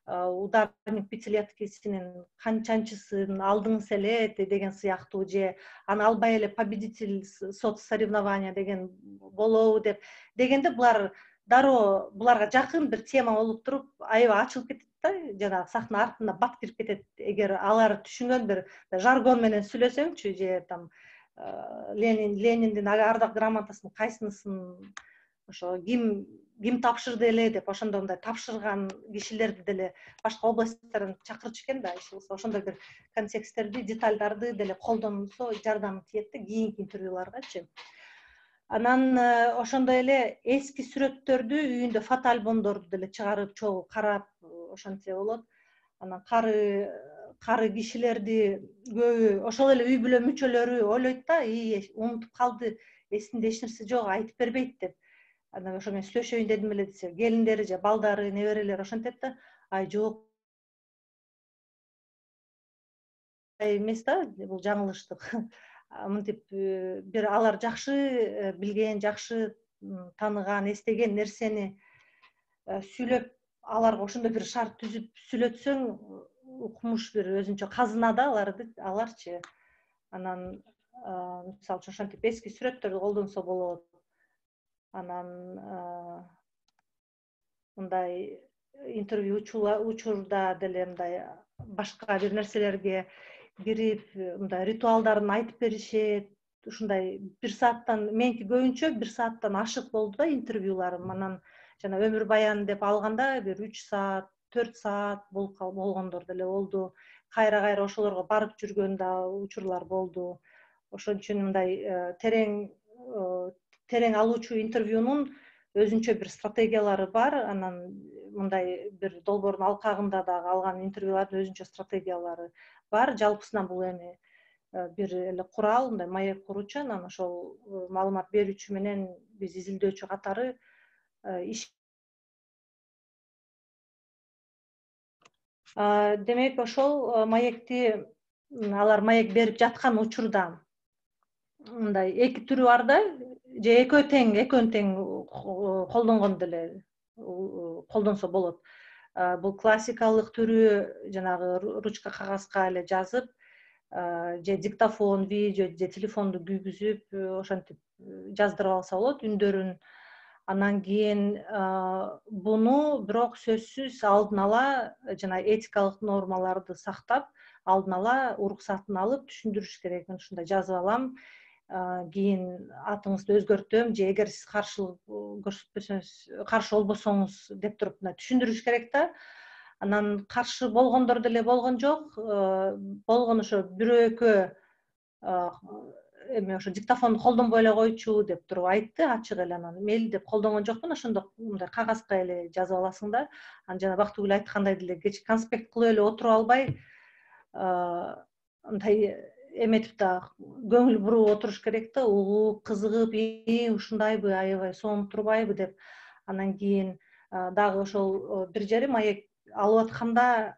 ударник пятилеткисинин канчанчысын алдыңыз эле деген сыяктуу, же аны албай эле победитель соцсоревнования деген болобу деп дегенде, булар дароо буларга жакын бир тема болуп туруп аябай ачылып кетет да, жанагы сахна артына бат кирип кетет. Эгер алар түшүнгөн бир жаргон менен сүйлөсөңчү, же там Ленин Лениндин ардак грамотасын кайсынысын ошо ким ким тапшырды эле деп, ошондо мындай тапшырган кишилерди деле башка областтардан чакырчу экен да. Ошондой бир контексттерди, детальдарды деле колдонсо жардам тиет да кийинки интервьюларгачы. Анан ошондой эле эски сүрөттөрдү үйүндө фотоальбомдорду деле чыгарып, чогуу карап ошентсе болот. Анан кары кары кишилерди көбү ошол эле үй бүлө мүчөлөрү ойлойт да, и унутуп калды, эсинде эч нерсе жок, айтып бербейт деп. Анан ошо мен сүйлөшөйүн дедим эле десе, келиндери же балдары, неберелери ошентет да, ай жок эмес да, бул жаңылыштык. Мынтип бир алар жакшы билген, жакшы тааныган, эстеген нерсени сүйлөп, аларга ошондой бир шарт түзүп сүйлөтсөң, укмуш бир өзүнчө казына да аларды, аларчы. Анан мисалы үчүн ошентип эски сүрөттөрдү колдонсо болот. Анан мындай интервью учурда деле мындай башка бир нерселерге кирип, мындай ритуалдарын айтып беришет. Ушундай бир сааттан, меники көбүнчө бир сааттан ашык болду да интервьюларым. Анан жана өмүр баян деп алганда бир үч саат, төрт саат болгондор деле болду. Кайра-кайра ошолорго барып жүргөн да учурлар болду. Ошон үчүн мындай терең терең алуучу интервьюнун өзүнчө бир стратегиялары бар. Анан мындай бир долбоордун алкагында дагы алган интервьюлардын өзүнчө стратегиялары бар. Жалпысынан бул эми бир эле курал, мындай маек куруучу, анан ошол маалымат берүүчү менен биз изилдөөчү катары иш. Демек ошол маекти алар маек берип жаткан учурда мындай эки түрү бар да, же экөө тең, экөөнү тең колдонгон деле колдонсо болот. Бул классикалык түрү, жанагы ручка кагазга эле жазып, же диктофон, видео же телефонду күйгүзүп, ошентип жаздырып алса болот үндөрүн. Анан кийин буну бирок сөзсүз алдын ала жана этикалык нормаларды сактап, алдын ала уруксатын алып түшүндүрүш керек. Мен ушундай жазып алам, кийин атыңызды өзгөртөм, же эгер сиз каршылык көрсөтпөсөңүз, каршы болбосоңуз деп туруп мына түшүндүрүш керек да. Анан каршы болгондор деле болгон жок. Болгон ошо бирөө экөө эме ошо диктофонду колдонбой эле койчу деп туруп айтты ачык эле. Анан мейли деп колдонгон жокмун, ошондо мындай кагазга эле жазып аласың да. Анан жана Бактыгүл айткандай деле кеч конспект кылып эле отуруп албай, мындай эметип да көңүл буруп отуруш керек да, угуп, кызыгып, и ушундайбы, аябай сонуп турбайбы деп. Анан кийин дагы ошол бир жери маек алып атканда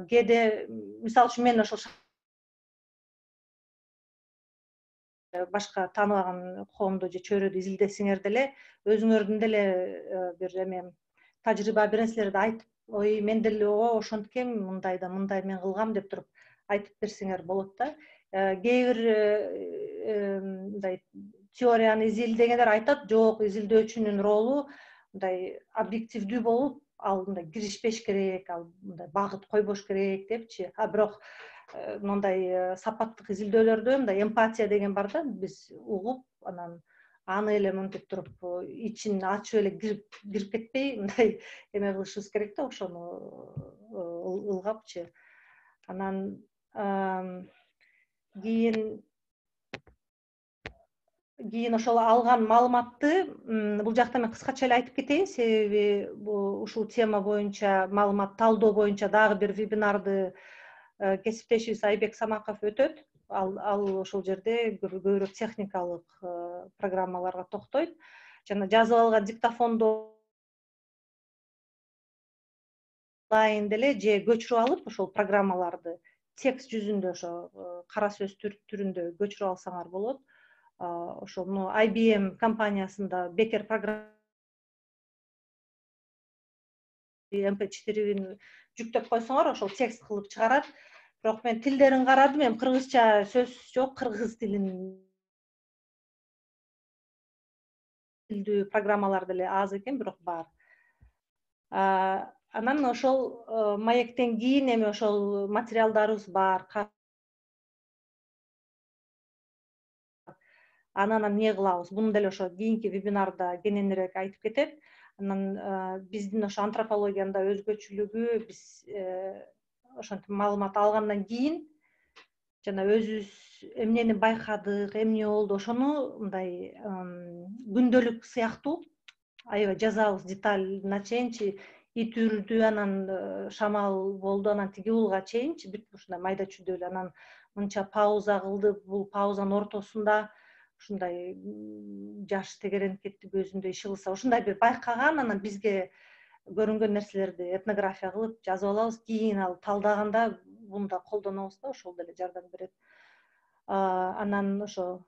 кээде, мисалы үчүн мен ошол башка тааныбаган коомду же чөйрөдү изилдесеңер деле, өзүңөрдүн деле бир эме тажрыйба бир нерселерди айтып, ой мен деле о ошонткем, мындай да мындай мен кылгам деп туруп айтып берсеңер болот да. Кээ бир мындай теорияны изилдегендер айтат, жок, изилдөөчүнүн ролу мындай объективдүү болуп, ал мындай киришпеш керек, ал мындай багыт койбош керек депчи. А бирок мындай сапаттык изилдөөлөрдө мындай эмпатия деген бар да, биз угуп, анан аны эле мынтип туруп ичин ачып эле кирип кирип кетпей, мындай эме кылышыбыз керек да, ошону ылгапчы. Анан кийин кийин ошол алган маалыматты бул жакта мен кыскача эле айтып кетейин, себеби ушул тема боюнча маалымат талдоо боюнча дагы бир вебинарды кесиптешибиз Айбек Самаков өтөт. Ал ал ошол жерде көбүрөөк техникалык программаларга токтойт. Жана жазып алган диктофонду онлайн деле же көчүрүп алып, ошол программаларды текст жүзүндө, ошо кара сөз түрүндө көчүрүп алсаңар болот. Ошол мына ай би эм компаниясында бекер программа эм пэ четирин жүктөп койсоңор, ошол текст кылып чыгарат. Бирок мен тилдерин карадым, эми кыргызча сөз жок, кыргыз тилин тилдүү программалар деле аз экен, бирок бар. Анан ошол маектен кийин эми ошол материалдарыбыз бар. Анан эмне кылабыз? Буну деле ошо кийинки вебинарда кененирээк айтып кетет. Анан биздин ошо антропологиянда өзгөчөлүгү, биз ошентип маалымат алгандан кийин жана өзүбүз эмнени байкадык, эмне болду, ошону мындай күндөлүк сыяктуу аябай жазабыз деталына чейинчи. Ит үрдү, анан шамал болду, анан тиги уулга чейинчи бүт ушундай майда чүйдөөлүү. Анан мынча пауза кылды, бул паузанын ортосунда ушундай жаш тегеренип кетти, көзүндө иши кылса, ушундай бир байкаган. Анан бизге көрүнгөн нерселерди этнография кылып жазып алабыз, кийин ал талдаганда муну да колдонобуз да, ошол деле жардам берет. Анан ошо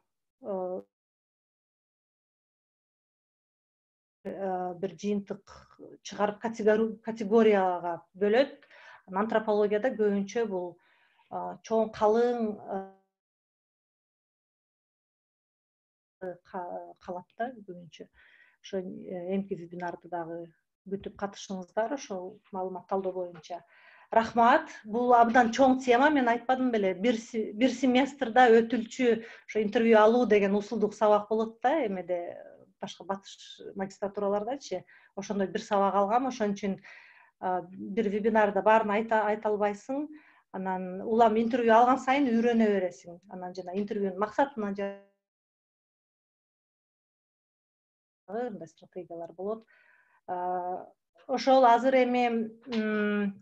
бир жыйынтык чыгарып категорияга бөлөт. Антропологияда көбүнчө бул чоң, калың калат да көбүнчө. Ошо эмки вебинарды дагы күтүп катышыңыздар ошол маалымат талдоо боюнча. Рахмат. Бул абдан чоң тема. Мен айтпадым беле, бир бир семестрда өтүлчү ошо интервью алуу деген усулдук сабак болот да, эмеде башка батыш магистратуралардачы. Ошондой бир сабак алгам, ошон үчүн бир вебинарда баарын айта айта албайсың. Анан улам интервью алган сайын үйрөнө бересиң. Анан жана интервьюнун максатына мындай стратегиялар болот. Ошол азыр эми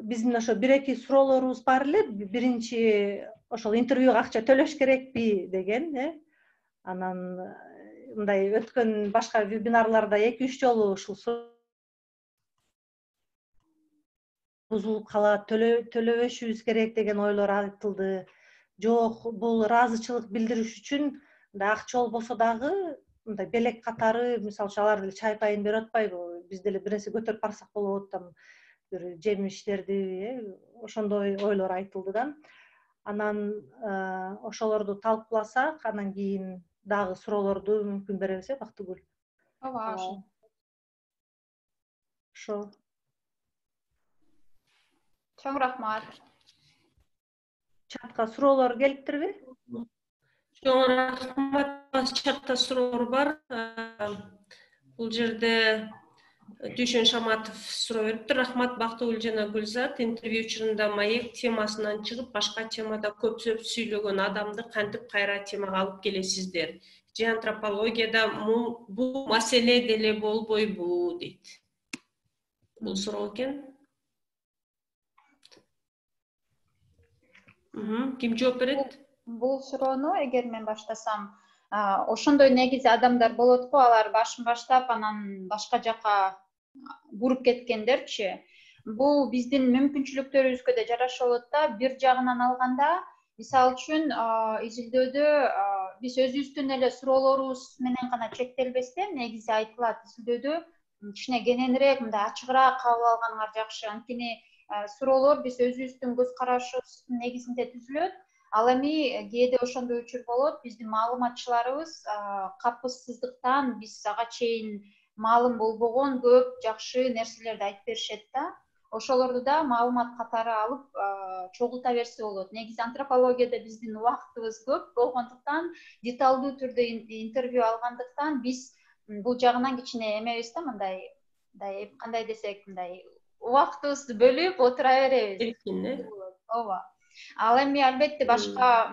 биздин ошо бир эки суроолорубуз бар эле. Биринчи ошол интервьюга акча төлөш керекпи деген, э? Анан мындай өткөн башка вебинарларда эки үч жолу ушул бузулуп калат, төлөбөшүбүз керек деген ойлор айтылды. Жок, бул ыраазычылык билдириш үчүн мындай акча болбосо дагы мындай белек катары, мисалы үчүн алар деле чай пайын берип атпайбы? Биз деле бир нерсе көтөрүп барсак болот, там бир жемиштерди, э, ошондой ойлор айтылды да. Анан ошолорду талкууласак, анан кийин дагы суроолорду мүмкүн беребиз, э, Бактыгүл? Ооба. Ошо. Чоң рахмат. Чатка суроолор келиптирби? Чоң рахмат. Чатта суроолор бар. Бул жерде Дүйшөн Шаматов суроо бериптир. Рахмат Бактыгүл жана Гүлзат. Интервью учурунда маек темасынан чыгып, башка темада көпсөп сүйлөгөн адамды кантип кайра темага алып келесиздер? Же антропологияда бул маселе деле болбойбу, дейт. Бул суроо экен. Ким жооп берет? Бул суроону эгер мен баштасам, ошондой негизи адамдар болот го, алар башын баштап, анан башка жака буруп кеткендерчи. Бул биздин мүмкүнчүлүктөрүбүзгө да жараша болот да. Бир жагынан алганда, мисалы үчүн, изилдөөдө биз өзүбүздүн эле суроолорубуз менен гана чектелбестен, негизи айтылат, изилдөөдө кичине кененирээк, мындай ачыгыраак кабыл алганыңар жакшы. Анткени суроолор биз өзүбүздүн көз карашыбыздын негизинде түзүлөт. Ал эми кээде ошондой учур болот, биздин маалыматчыларыбыз капысыздыктан биз ага чейин маалым болбогон көп жакшы нерселерди айтып беришет да. Ошолорду да маалымат катары алып чогулта берсе болот. Негизи антропологияда биздин убактыбыз көп болгондуктан, деталдуу түрдө интервью алгандыктан биз бул жагынан кичине эмебиз да, мындай, мындай кандай десек, мындай убактыбызды бөлүп отура беребиз. Эркин, э? Ооба. Ал эми албетте башка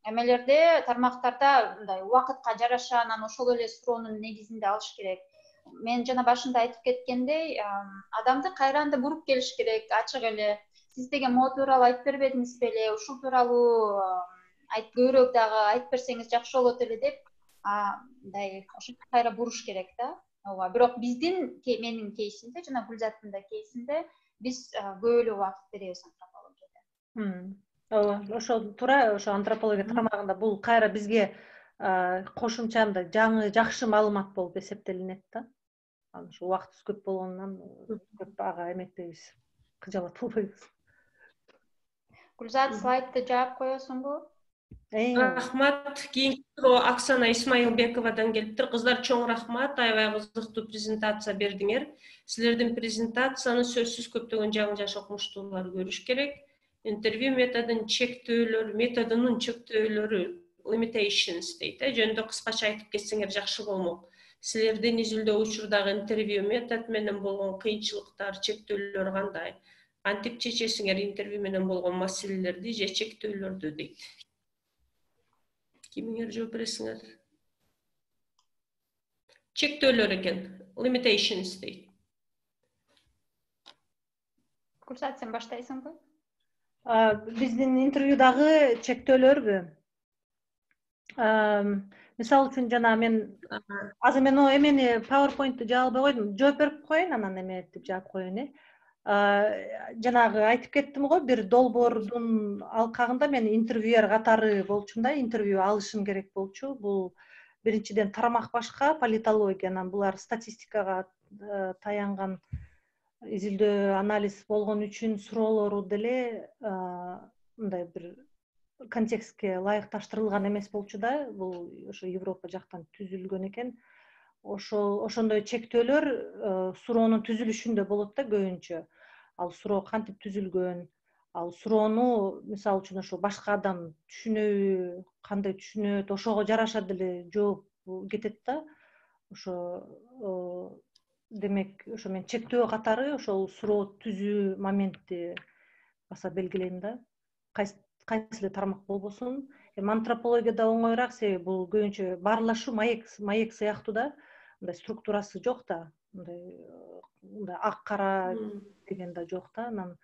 эмелерде, тармактарда мындай убакытка жараша анан ошол эле суроонун негизинде алыш керек. Мен жана башында айтып кеткендей, адамды кайранда буруп келиш керек, ачык эле. Сиз деген могу тууралуу айтып бербедиңиз беле? Ушул тууралуу көбүрөөк дагы айтып берсеңиз жакшы болот эле деп, мындай ошентип кайра буруш керек да. Ооба. Бирок биздин, менин кейсимде жана Гүлзаттын да кейсинде биз көп эле убакыт беребиз антропологияда. Ооба, ошол туура, ошо антропология тармагында бул кайра бизге кошумча мындай жаңы жакшы маалымат болуп эсептелинет да. Анан ушу убактыбыз көп болгондон көп ага эметпейбиз, кыжалат болбойбуз. Гүлзат, слайдты жаап коесуңбу? Рахмат. Кийинки суроо Оксана Исмаилбековадан келиптир. Кыздар, чоң рахмат. Аябай кызыктуу презентация бердиңер. Силердин презентацияны сөзсүз көптөгөн жаңы жаш окумуштуулар көрүш керек. Интервью методунун чектөөлөрү, методунун чектөөлөрү, limitations дейт, э, жөнүндө кыскача айтып кетсеңер жакшы болмок. Силердин изилдөө учурдагы интервью метод менен болгон кыйынчылыктар, чектөөлөр кандай? Кантип чечесиңер интервью менен болгон маселелерди же чектөөлөрдү, дейт. Кимиңер жооп бересиңер? Чектөөлөр экен, limitations дейт. Гүлзат, сен баштайсыңбы? Биздин интервьюдагы чектөөлөрбү? Мисалы үчүн жана мен азыр мен о эмени PowerPoint'ти жаба албай койдум. Жооп берип коеюн, анан эме деп жаап коеюн э. Жанагы айтып кеттим го, бир долбоордун алкагында мен интервьюер катары болчумун да, интервью алышым керек болчу. Бул биринчиден тармак башка, политология, анан булар статистикага таянган изилдөө анализ болгон үчүн суроолору деле мындай бир контекстке ылайыкташтырылган эмес болчу да. Бул ошо Европа жактан түзүлгөн экен. Ошол ошондой чектөөлөр суроонун түзүлүшүндө болот да көбүнчө. Ал суроо кантип түзүлгөн, ал суроону мисалы үчүн ошо башка адам түшүнөбү, кандай түшүнөт, ошого жараша деле жооп кетет да. Ошо демек ошо мен чектөө катары ошол суроо түзүү моментти баса белгилейм да. Кайсы кайсы эле тармак болбосун. Эми антропологияда оңоюраак, себеби бул көбүнчө баарлашуу маек маек сыяктуу да. Мындай структурасы жок да. Мындай мындай ак кара деген да жок да. Анан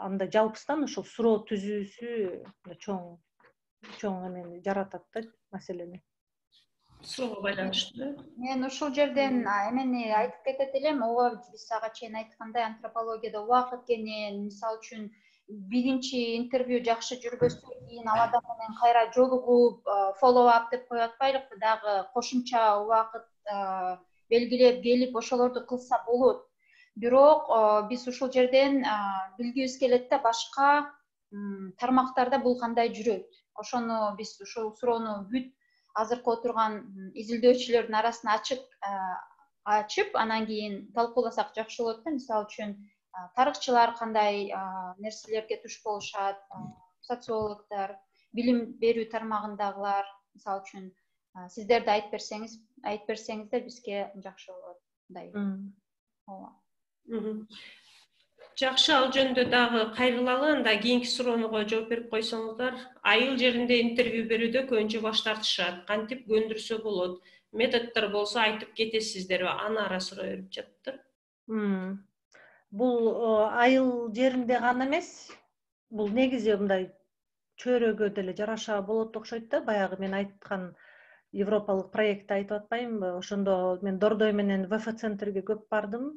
анда жалпысынан ошол суроо түзүүсү чоң чоң эмени жаратат да, маселени. Суроого байланыштуу. Мен ушул жерден эмени айтып кетет элем. Ооба биз ага чейин айткандай антропологияда убакыт кенен, мисалы үчүн биринчи интервью жакшы жүрбөстөн кийин ал адам менен кайра жолугуп, follow up деп коюп атпайлыкпы, дагы кошумча убакыт белгилеп келип ошолорду кылса болот. Бирок биз ушул жерден билгибиз келет да, башка тармактарда бул кандай жүрөт. Ошону биз ушул суроону бүт азыркы отурган изилдөөчүлөрдүн арасына ачык ачып, анан кийин талкууласак жакшы болот да. Мисалы үчүн тарыхчылар кандай нерселерге туш болушат, социологдор, билим берүү тармагындагылар, мисалы үчүн сиздер да айтып берсеңиз, айтып берсеңиздер бизге жакшы болот. Мындай. Ооба. Жакшы, ал жөнүндө дагы кайрылалы, анда кийинки суроого жооп берип койсоңуздар. Айыл жеринде интервью берүүдө көбүнчө баш тартышат. Кантип көндүрсө болот? Методдор болсо айтып кетесиздерби? Аны ара суроо берип жатыптыр. Бул айыл жеринде гана эмес, бул негизи мындай чөйрөгө деле жараша болот окшойт да. Баягы мен айткан европалык проектти айтып атпаймынбы? Ошондо мен Дордой менен вэ эф центрге көп бардым.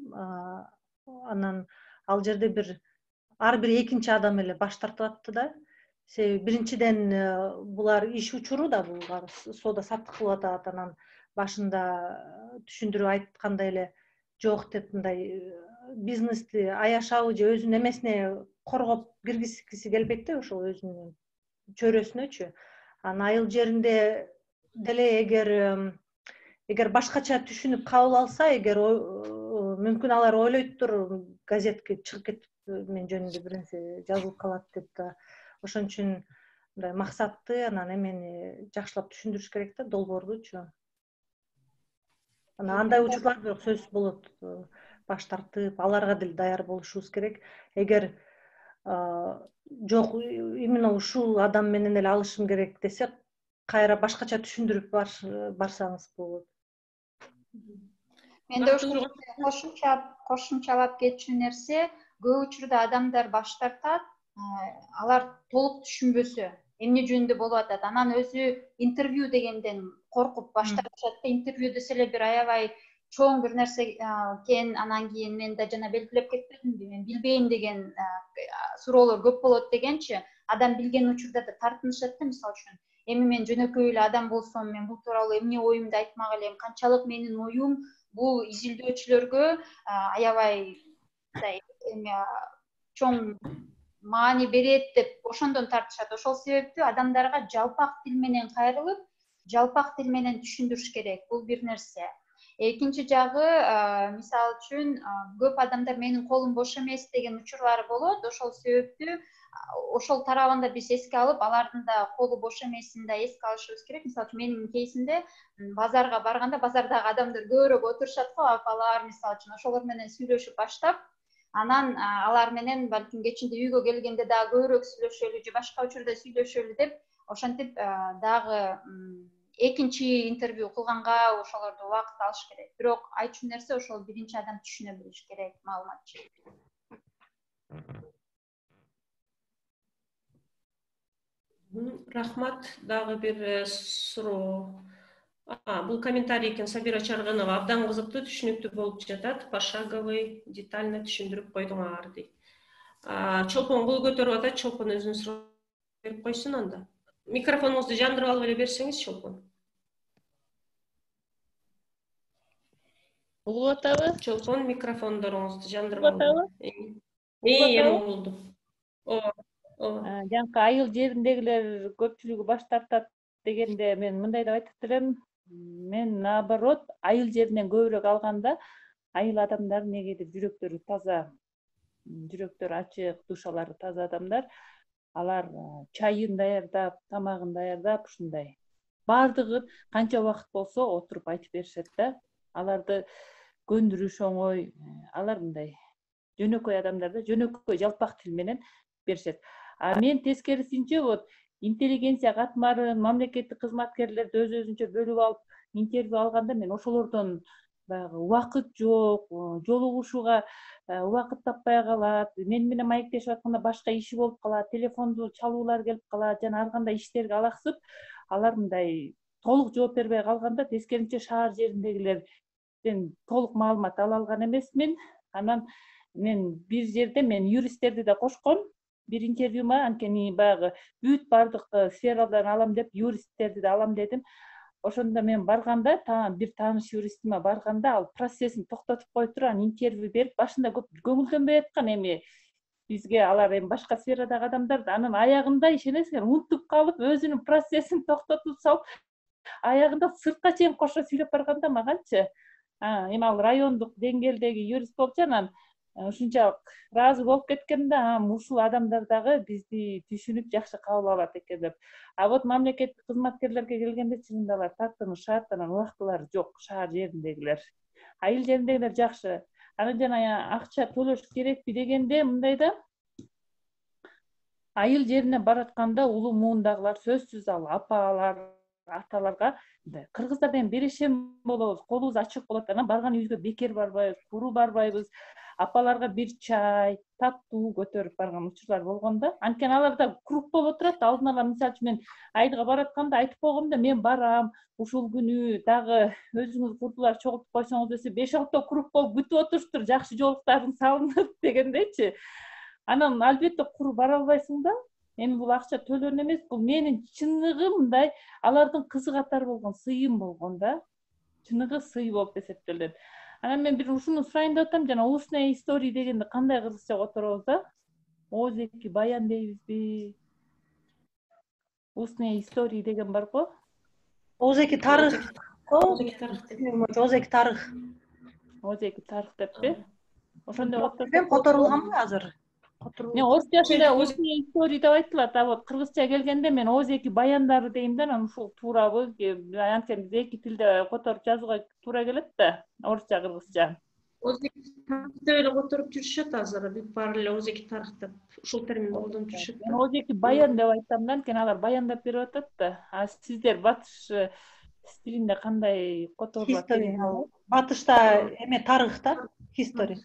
Анан ал жерде бир ар бир экинчи адам эле баш тартып атты да. Себеби биринчиден булар иш учуру да, булар соода саттык кылып атат. Анан башында түшүндүрүп айткандай эле жок деп, мындай бизнести аяшабы же өзүнүн эмесине коргоп киргизгиси келбейт да, ошол өзүнүн чөйрөсүнөчү. Анан айыл жеринде деле эгер эгер башкача түшүнүп кабыл алса, эгер мүмкүн алар ойлойттур, газетке чыгып кетип мен жөнүндө бир нерсе жазылып калат деп да. Ошон үчүн мындай максатты, анан эмени жакшылап түшүндүрүш керек да, долбоордучу. Анан андай учурлар бирок сөзсүз болот. Баш тартып, аларга деле даяр болушубуз керек. Эгер жок, именно ушул адам менен эле алышым керек десе, кайра башкача түшүндүрүп барсаңыз болот. Менде ошол кошумча кошумчалап кетчү нерсе, көп учурда адамдар баш тартат, алар толук түшүнбөсө, эмне жөнүндө болуп атат. Анан өзү интервью дегенден коркуп баш тартышат да. Интервью десе эле бир аябай чоң бир нерсе экен, анан кийин мен да жана белгилеп кетпедимби, мен билбейм деген суроолор көп болот дегенчи, адам билген учурда да тартынышат да. Мисалы үчүн, эми мен жөнөкөй эле адам болсом, мен бул тууралуу эмне оюмду айтмак элем, канчалык менин оюм бул изилдөөчүлөргө аябай эме чоң маани берет деп ошондон тартышат. Ошол себептүү адамдарга жалпак тил менен кайрылып, жалпак тил менен түшүндүрүш керек. Бул бир нерсе. Экинчи жагы, мисалы үчүн, көп адамдар менин колум бош эмес деген учурлары болот. Ошол себептүү ошол тарабында биз эске алып, алардын да колу бош эмесин да эске алышыбыз керек. Мисалы үчүн, менин кейсимде базарга барганда, базардагы адамдар көбүрөөк отурушат го, апалар, мисалы үчүн, ошолор менен сүйлөшүп баштап, анан алар менен балким кечинде үйгө келгенде дагы көбүрөөк сүйлөшөлү же башка учурда сүйлөшөлү деп, ошентип дагы экинчи интервью кылганга ошолорду убакыт алыш керек. Бирок айтчу нерсе, ошол биринчи адам түшүнө билиш керек, маалыматчы. Рахмат. Дагы бир суроо. Бул комментарий экен, Сабира Чарганова. Абдан кызыктуу, түшүнүктүү болуп жатат. Пошаговый, детально түшүндүрүп койдуңар дейт. Чолпон кол көтөрүп атат. Чолпон өзүнүн суроосун берип койсун анда. Микрофонуңузду жандырып алып эле берсеңиз, Чолпон. Угуп атабы? Чолпон, микрофондоруңузду жандырып алып. Угуп Эми угулду. Ооба. Ооба. Жанакы айыл жериндегилер көпчүлүгү баш тартат дегенде мен мындай деп айтып элем. Мен наоборот, айыл жеринен көбүрөөк алганда айыл адамдар негедир жүрөктөрү таза, жүрөктөрү ачык, душалары таза адамдар. Алар чайын даярдап, тамагын даярдап, ушундай баардыгын канча убакыт болсо отуруп айтып беришет да. Аларды көндүрүш оңой. Алар мындай жөнөкөй адамдар да, жөнөкөй жалпак тил менен беришет. А мен тескерисинче вот интеллигенция катмарын, мамлекеттик кызматкерлерди өз өзүнчө бөлүп алып интервью алганда мен ошолордон баягы убакыт жок, жолугушууга убакыт таппай калат, мен менен маектешип атканда башка иши болуп калат, телефонду чалуулар келип калат, жана ар кандай иштерге алаксып, алар мындай толук жооп бербей калганда тескерисинче шаар жериндегилерден толук маалымат ала алган эмесмин. Анан мен бир жерде мен юристтерди да кошком. Бир интервьюма анткени баягы бүт бардык сфералардан алам деп юристтерди да алам дедим. Ошондо мен барганда, бир тааныш юристиме барганда, ал процессин токтотуп коюп туруп, анан интервью берип, башында көп көңүлдөнбөй аткан, эми бизге алар эми башка сферадагы адамдар да, анан аягында ишенесиңер, унутуп калып, өзүнүн процессин токтотуп салып, аягында сыртка чейин кошо сүйлөп барганда маганчы, эми ал райондук деңгээлдеги юрист болчу, анан ушунчалык ыраазы болуп кеткем да, ушул адамдар дагы бизди түшүнүп жакшы кабыл алат экен деп. А вот мамлекеттик кызматкерлерге келгенде чынында алар тартынышат, анан убактылары жок, шаар жериндегилер. Айыл жериндегилер жакшы. Анан жана акча төлөш керекпи дегенде мындай да, айыл жерине баратканда улуу муундагылар сөзсүз ал апалар, аталарга кыргыздар менен берешем болобуз, колубуз ачык болот, анан барган үйгө бекер барбайбыз, куру барбайбыз. Апаларга бир чай, таттуу көтөрүп барган учурлар болгон да. Анткени аларда круг болуп отурат. Алдын ала мисалы үчүн мен айылга баратканда айтып койгом да, мен барам, ушул күнү дагы өзүңүз курдулар чогултуп койсоңуз десе, беш алты круг болуп күтүп отуруштур, жакшы жолуктарын салынып дегендейчи. Анан албетте куру бара албайсың да. Эми бул акча төлөнү эмес, бул менин чыныгы мындай алардын кызы катары болгон сыйым болгон да. Чыныгы сый болуп эсептелет. Анан мен бир ушуну сурайын деп атам, жана устная история дегенди кандай кыргызча которобуз да? Озеки баян дейбизби? Устная история деген бар го? Озеки тарых. Озеки тарых. Озеки тарых. Озеки тарых деппи? Ошондой которулганбы азыр? Мен орусчасында устная история деп айтылат, а вот кыргызча келгенде мен озеки баяндары дейм да, анан ушул туурабы? Анткени биз эки тилде которуп жазууга туура келет да, орусча, кыргызча. Озеки тарых деп эле которуп жүрүшөт азыр, бүт баары эле озеки тарых деп ушул терминди колдонуп жүрүшөт. Мен озеки баян деп айтам да, анткени алар баяндап берип атат да. А сиздер батыш стилинде кандай которулат? Батышта эме тарых да, history.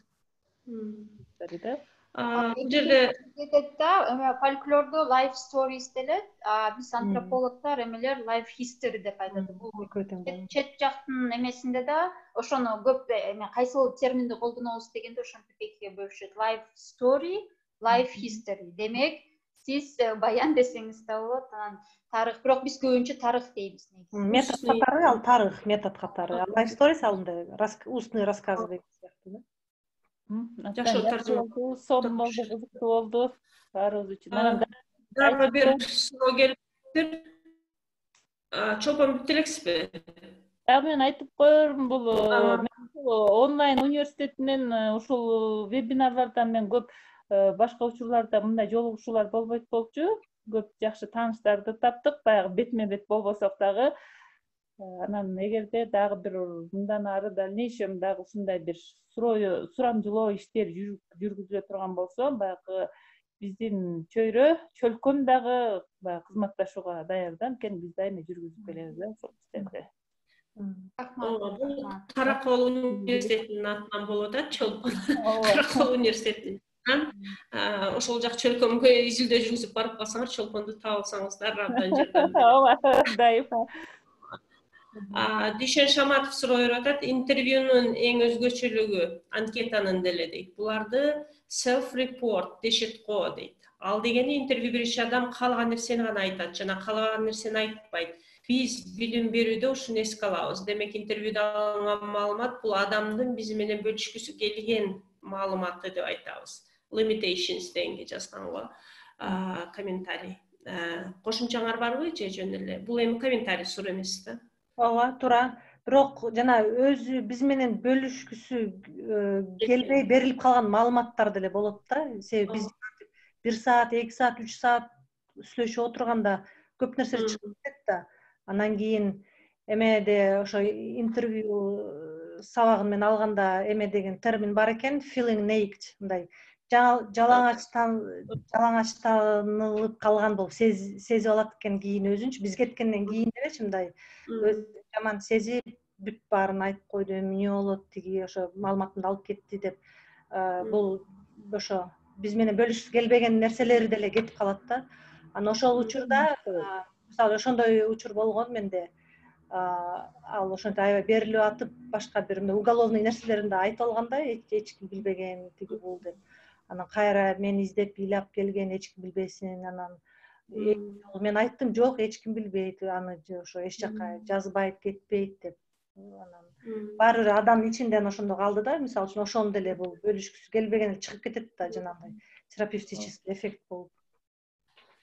History да. Бул жерде эме фольклордо life stories делет, а биз антропологдор эмелер life history деп айтат. Бул чет жактын эмесинде да ошону көп эме кайсыл терминди колдонобуз дегенде ошентип экиге бөлүшөт. Life story, life history. Демек, сиз баян десеңиз да болот, анан тарых, бирок биз көбүнчө тарых дейбиз негизи. Метод катары ал тарых, метод катары. Life stories алынды, устный рассказ деген сыяктуу да. Жакшы таржыма болду, сон болду, кызыктуу болду. Баарыбыз үчүн. Анан дагы бир суроо келиптир. Чолпон бүт элексизби? Дагы мен айтып коермун, бул онлайн университетинен ушул вебинарлардан мен көп башка учурларда мындай жолугушуулар болбойт болчу. Көп жакшы тааныштарды таптык, баягы бетме бет болбосок дагы. Анан эгерде дагы бир мындан ары дальнейшем дагы ушундай бир суроо, сурамжылоо иштер жүргүзүлө турган болсо, баягы биздин чөйрө, чөлкөм дагы баягы кызматташууга даяр да, анткени биз дайыма жүргүзүп келебиз да ошол иштерди. Бул Каракол университетинин атынан болуп атат, Чолпон. Каракол университетинин. ошол жак чөлкөмгө изилдөө жүргүзүп барып калсаңар чолпонду таап алсаңыздар абдан жардам берет. Ооба, дайыма. Дүйшөн Шаматов суроо берип атат, интервьюнун эң өзгөчөлүгү анкетанын деле дейт. Буларды self report дешет го дейт. Ал дегени интервью берүүчү адам каалаган нерсени гана айтат жана каалаган нерсени айтпайт. Биз билим берүүдө ушуну эске алабыз. Демек интервьюда алынган маалымат бул адамдын биз менен бөлүшкүсү келген маалыматы деп айтабыз. Limitations дегенге жазганго комментарий. Кошумчаңар барбы же жөн эле? Бул эми комментарий суроо эмес да. Ооба, туура. Бирок жана өзү биз менен бөлүшкүсү келбей берилип калган маалыматтар деле болот да. Себеби биз бир саат, эки саат, үч саат сүйлөшүп отурганда көп нерсе чыгып кетет да. Анан кийин эмеде ошо интервью сабагын мен алганда эме деген термин бар экен, feeling naked, мындай жалаңачтан жалаңачтанылып калган болуп сезип алат экен кийин өзүнчү. Биз кеткенден кийин делечи мындай жаман сезип бүт баарын айтып койду, эмне болот, тиги ошо маалыматымды алып кетти деп. Бул ошо биз менен бөлүшкүсү келбеген нерселери деле кетип калат да. Анан ошол учурда мисалы ошондой учур болгон менде. Ал ошентип аябай берилип атып, башка бир уголовный нерселерин да айтып алганда, эч ким билбеген тиги бул деп. Анан кайра мени издеп ыйлап келген, эч ким билбесин. Анан мен айттым, жок, эч ким билбейт, аны ошо эч жака жазбайт, кетпейт деп. Анан баары бир адам ичинден ошондо калды да, мисалы үчүн ошону деле бул бөлүшкүсү келбеген чыгып кетет да, жанагындай терапевтический эффект болуп.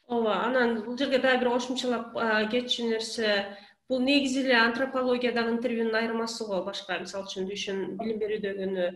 Ооба, анан бул жерге дагы бир кошумчалап кетчү нерсе, бул негизи эле антропологиядагы интервьюнун айырмасы го. Башка, мисалы үчүн Дүйшөн билим берүүдөгүнү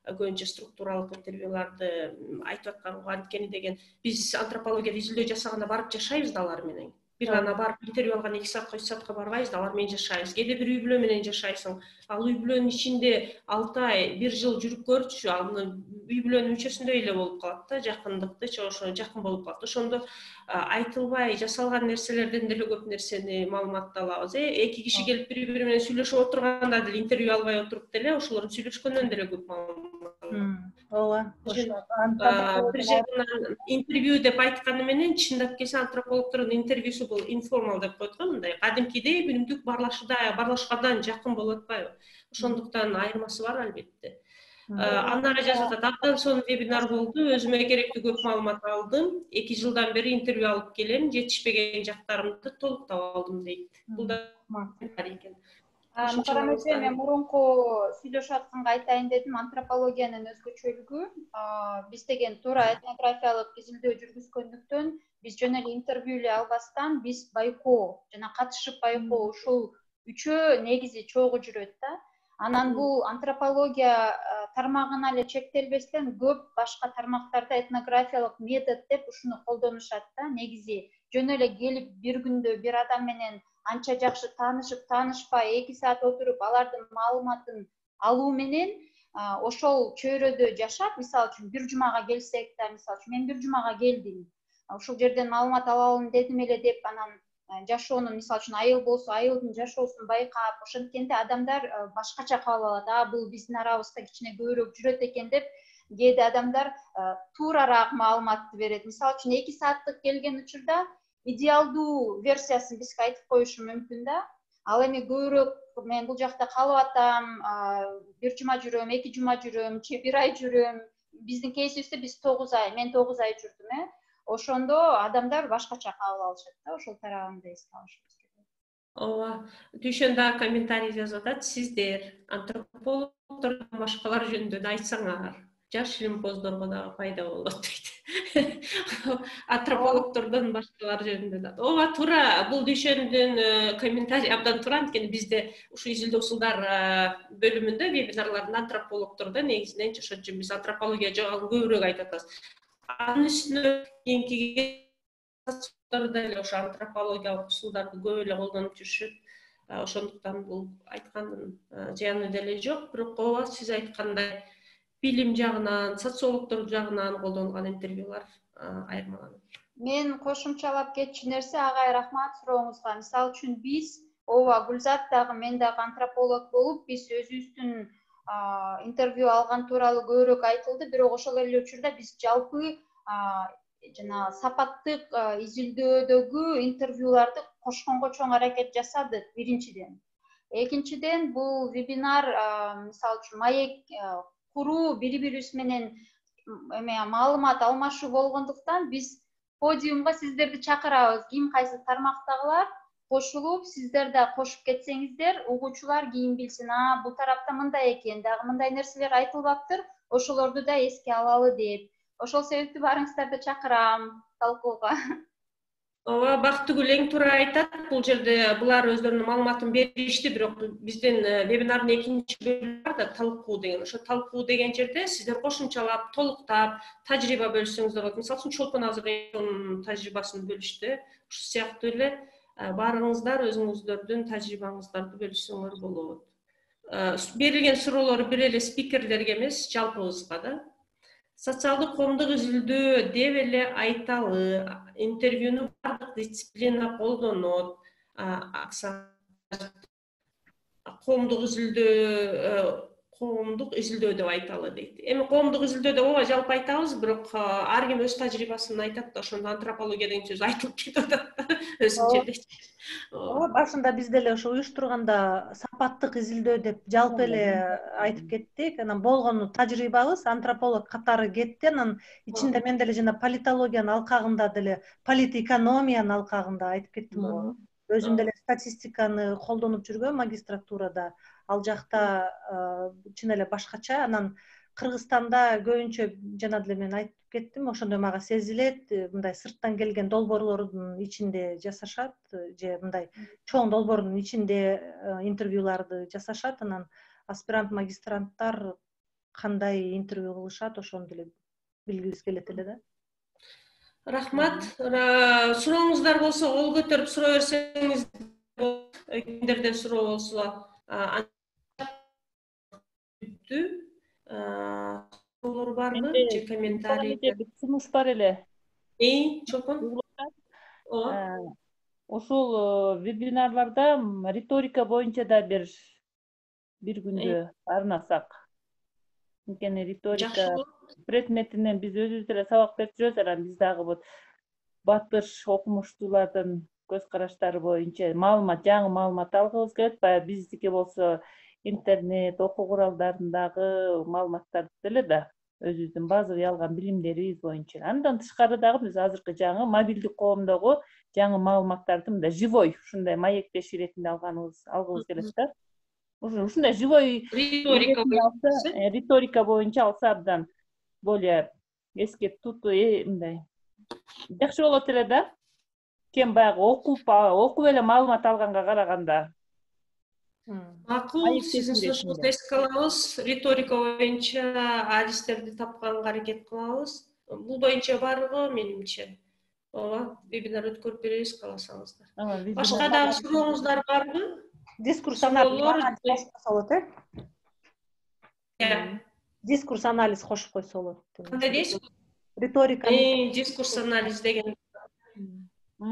көбүнчө структуралык интервьюларды айтып атканго анткени деген, биз антропологияда изилдөө жасаганда барып жашайбыз да алар менен. Бир гана барып интервью алган эки саатка үч саатка барбайбыз да, алар менен жашайбыз. Кээде бир үй бүлө менен жашайсың. Ал үй бүлөнүн ичинде алты ай, бир жыл жүрүп көрчү, ал үй бүлөнүн мүчөсүндөй эле болуп калат да, жакындыктычы ошо жакын болуп калат. Ошондо айтылбай жасалган нерселерден деле көп нерсени маалыматты алабыз. Эки киши келип бири-бири менен сүйлөшүп отурганда деле интервью албай отуруп деле ошолордун сүйлөшкөндөн деле көп маалымат алабыз. Ооба. Бир жерден интервью деп айтканы менен чындап келсе антропологдордун интервьюсу бул информал деп коет го, мындай кадимкидей мүнөмдүк барлашкадан жакын болуп атпайбы? Ошондуктан айырмасы бар албетте. Андан ары жазып атат, абдан сонун вебинар болду, өзүмө керектүү көп маалымат алдым. эки жылдан бери интервью алып келем, жетишпеген жактарымды толуктап алдым дейт. Бул да комментарий экен. Мукаррам эже, мен мурунку сүйлөшүп атканга айтайын дедим, антропологиянын өзгөчөлүгү. Биз деген туура этнографиялык изилдөө жүргүзгөндүктөн, биз жөн эле интервью эле албастан, биз байкоо жана катышып байкоо ушул үчөө негизи чогуу жүрөт да. Анан бул антропология тармагына эле чектелбестен көп башка тармактарда этнографиялык метод деп ушуну колдонушат да. Негизи жөн эле келип бир күндө бир адам менен анча жакшы таанышып, таанышпай эки саат отуруп алардын маалыматын алуу менен ошол чөйрөдө жашап, мисалы үчүн бир жумага келсек да, мисалы үчүн мен бир жумага келдим, ушул жерден маалымат алалым дедим эле деп, анан жашоонун, мисалы үчүн айыл болсо айылдын жашоосун байкап, ошенткенде адамдар башкача кабыл алат. А бул биздин арабызда кичине көбүрөөк жүрөт экен деп, кээде адамдар туурараак маалыматты берет. Мисалы үчүн эки сааттык келген учурда идеалдуу версиясын бизге айтып коюшу мүмкүн да. Ал эми көбүрөөк мен бул жакта калып атам, бир жума жүрөм, эки жума жүрөм, же бир ай жүрөм. Биздин кейсибизде биз тогуз ай, мен тогуз ай жүрдүм, э. Ошондо адамдар башкача кабыл алышат да, ошол тарабын да эске алышыбыз керек. Ооба, Дүйшөн да комментарий жазып атат, сиздер антропологдордон башкалар жөнүндө да айтсаңар, жаш илимпоздорго дагы пайда болот дейт. Антропологдордон башкалар жөнүндө да. Ооба, туура, бул Дүйшөндүн комментарий абдан туура, анткени бизде ушу изилдөө усулдар бөлүмүндө вебинарларда антропологдордон негизинен ошон үчүн биз антропология жагын көбүрөөк айтып атабыз. Анын үстүнө кийинки деле ошо антропологиялык усулдарды көп эле колдонуп жүрүшөт. Ошондуктан бул айткандын зыяны деле жок. Бирок ооба, сиз айткандай билим жагынан, социологдор жагынан колдонулган интервьюлар айырмаланат. Мен кошумчалап кетчү нерсе, агай, рахмат сурооңузга. Мисалы үчүн биз, ооба, Гүлзат дагы, мен дагы антрополог болуп, биз өзүбүздүн интервью алган тууралуу көбүрөөк айтылды, бирок ошол эле учурда биз жалпы жана сапаттык изилдөөдөгү интервьюларды кошконго чоң аракет жасадык биринчиден. Экинчиден, бул вебинар мисалы үчүн маек куруу, бири бирибиз менен эме маалымат алмашуу болгондуктан биз подиумга сиздерди чакырабыз. Ким кайсы тармактагылар кошулуп, сиздер да кошуп кетсеңиздер, угуучулар кийин билсин, а бул тарапта мындай экен, дагы мындай нерселер айтылбаптыр, ошолорду да эске алалы деп. Ошол себептүү баарыңыздарды чакырам талкууга. Ооба, Бактыгүл эң туура айтат. Бул жерде булар өздөрүнүн маалыматын беришти, бирок биздин вебинардын экинчи бөлүгү бар да, талкуу деген. Ошо талкуу деген жерде сиздер кошумчалап, толуктап, тажрыйба бөлүшсөңүздөр болот. Мисалы үчүн Чолпон азыр тажрыйбасын бөлүштү. Ушул сыяктуу эле баарыңыздар өзүңүздөрдүн тажрыйбаңыздарды бөлүшсөңөр болот. Берилген суроолор бир эле спикерлерге эмес, жалпыбызга да. Социалдык коомдук изилдөө деп эле айталы, интервьюну бардык дисциплина колдонот. Коомдук изилдөө, коомдук изилдөө деп айталы дейт. Эми коомдук изилдөө деп ооба жалпы айтабыз, бирок ар ким өз тажрыйбасын айтат да, ошондо антропология деген сөз айтылып кетип атат өзүнчө эле. Ооба, башында биз деле ошо уюштурганда сапаттык изилдөө деп жалпы эле айтып кеттик. Анан болгону тажрыйбабыз антрополог катары кетти. Анан ичинде мен деле жана политологиянын алкагында деле, политэкономиянын алкагында айтып кеттим го. Өзүм деле статистиканы колдонуп жүргөм магистратурада. Ал жакта чын эле башкача. Анан Кыргызстанда көбүнчө жана деле мен айтып кеттим, ошондой мага сезилет, мындай сырттан келген долбоорлордун ичинде жасашат, же мындай чоң долбоордун ичинде интервьюларды жасашат. Анан аспирант, магистранттар кандай интервью кылышат, ошону деле билгибиз келет эле да. Рахмат. Сурооңуздар болсо кол көтөрүп суроо берсеңиз болот. Кимдерден суроо болсо суроолор барбы же комментарий? Сунуш бар эле. Эй, Чолпон? Ошол вебинарларда риторика боюнча да бир бир күндө арнасак. Анткени риторика предметинен биз өзүбүз деле сабак берип жүрөбүз, анан биз дагы вот батыш окумуштуулардын көз караштары боюнча маалымат, жаңы маалымат алгыбыз келет. Баягы биздики болсо интернет, окуу куралдарындагы маалыматтарды деле да өзүбүздүн базовый алган билимдерибиз боюнча. Андан тышкары дагы биз азыркы жаңы мобилдик коомдогу жаңы маалыматтарды мындай живой, ушундай маектеш иретинде алганыбыз алгыбыз келет да. Ушундай живой риторика риторика боюнча алса абдан более эске тутуу мындай жакшы болот эле да. Кем баягы окуп, окуп эле маалымат алганга караганда. Макул, сиздин сунушуңузду эске алабыз. Риторика боюнча адистерди тапканга аракет кылабыз. Бул боюнча барбы, менимче? Ооба, вебинар өткөрүп беребиз, кааласаңыздар. Башка дагы сурооңуздар барбы? Дискурс анализ кошсо болот, э? Дискурс анализ кошуп койсо болот. Кандай дейсиз? Риторика. Дискурс анализ деген.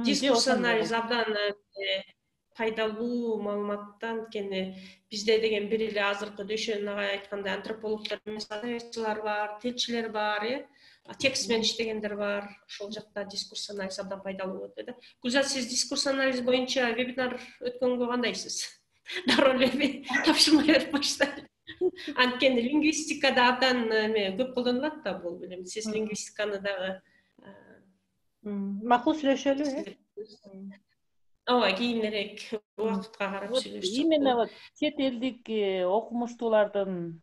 Дискурс анализ абдан пайдалуу маалыматтан, анткени бизде деген бир эле азыркы Дөшөн агай айткандай антропологдор эмес, тарыхчылар бар, тилчилер бар, э? Текст менен иштегендер бар. Ошол жакта дискурс анализ абдан пайдалуу болот, да. Гүлзат, сиз дискурс анализ боюнча вебинар өткөнгө кандайсыз? Дароо эле тапшырма берип баштайлы. Анткени лингвистикада абдан эме көп колдонулат да бул, билем. Сиз лингвистиканы дагы макул сүйлөшөлү, э? Ооба, кийинирээк убакытка карап сүйлөшсөк. Именно вот чет элдик окумуштуулардын,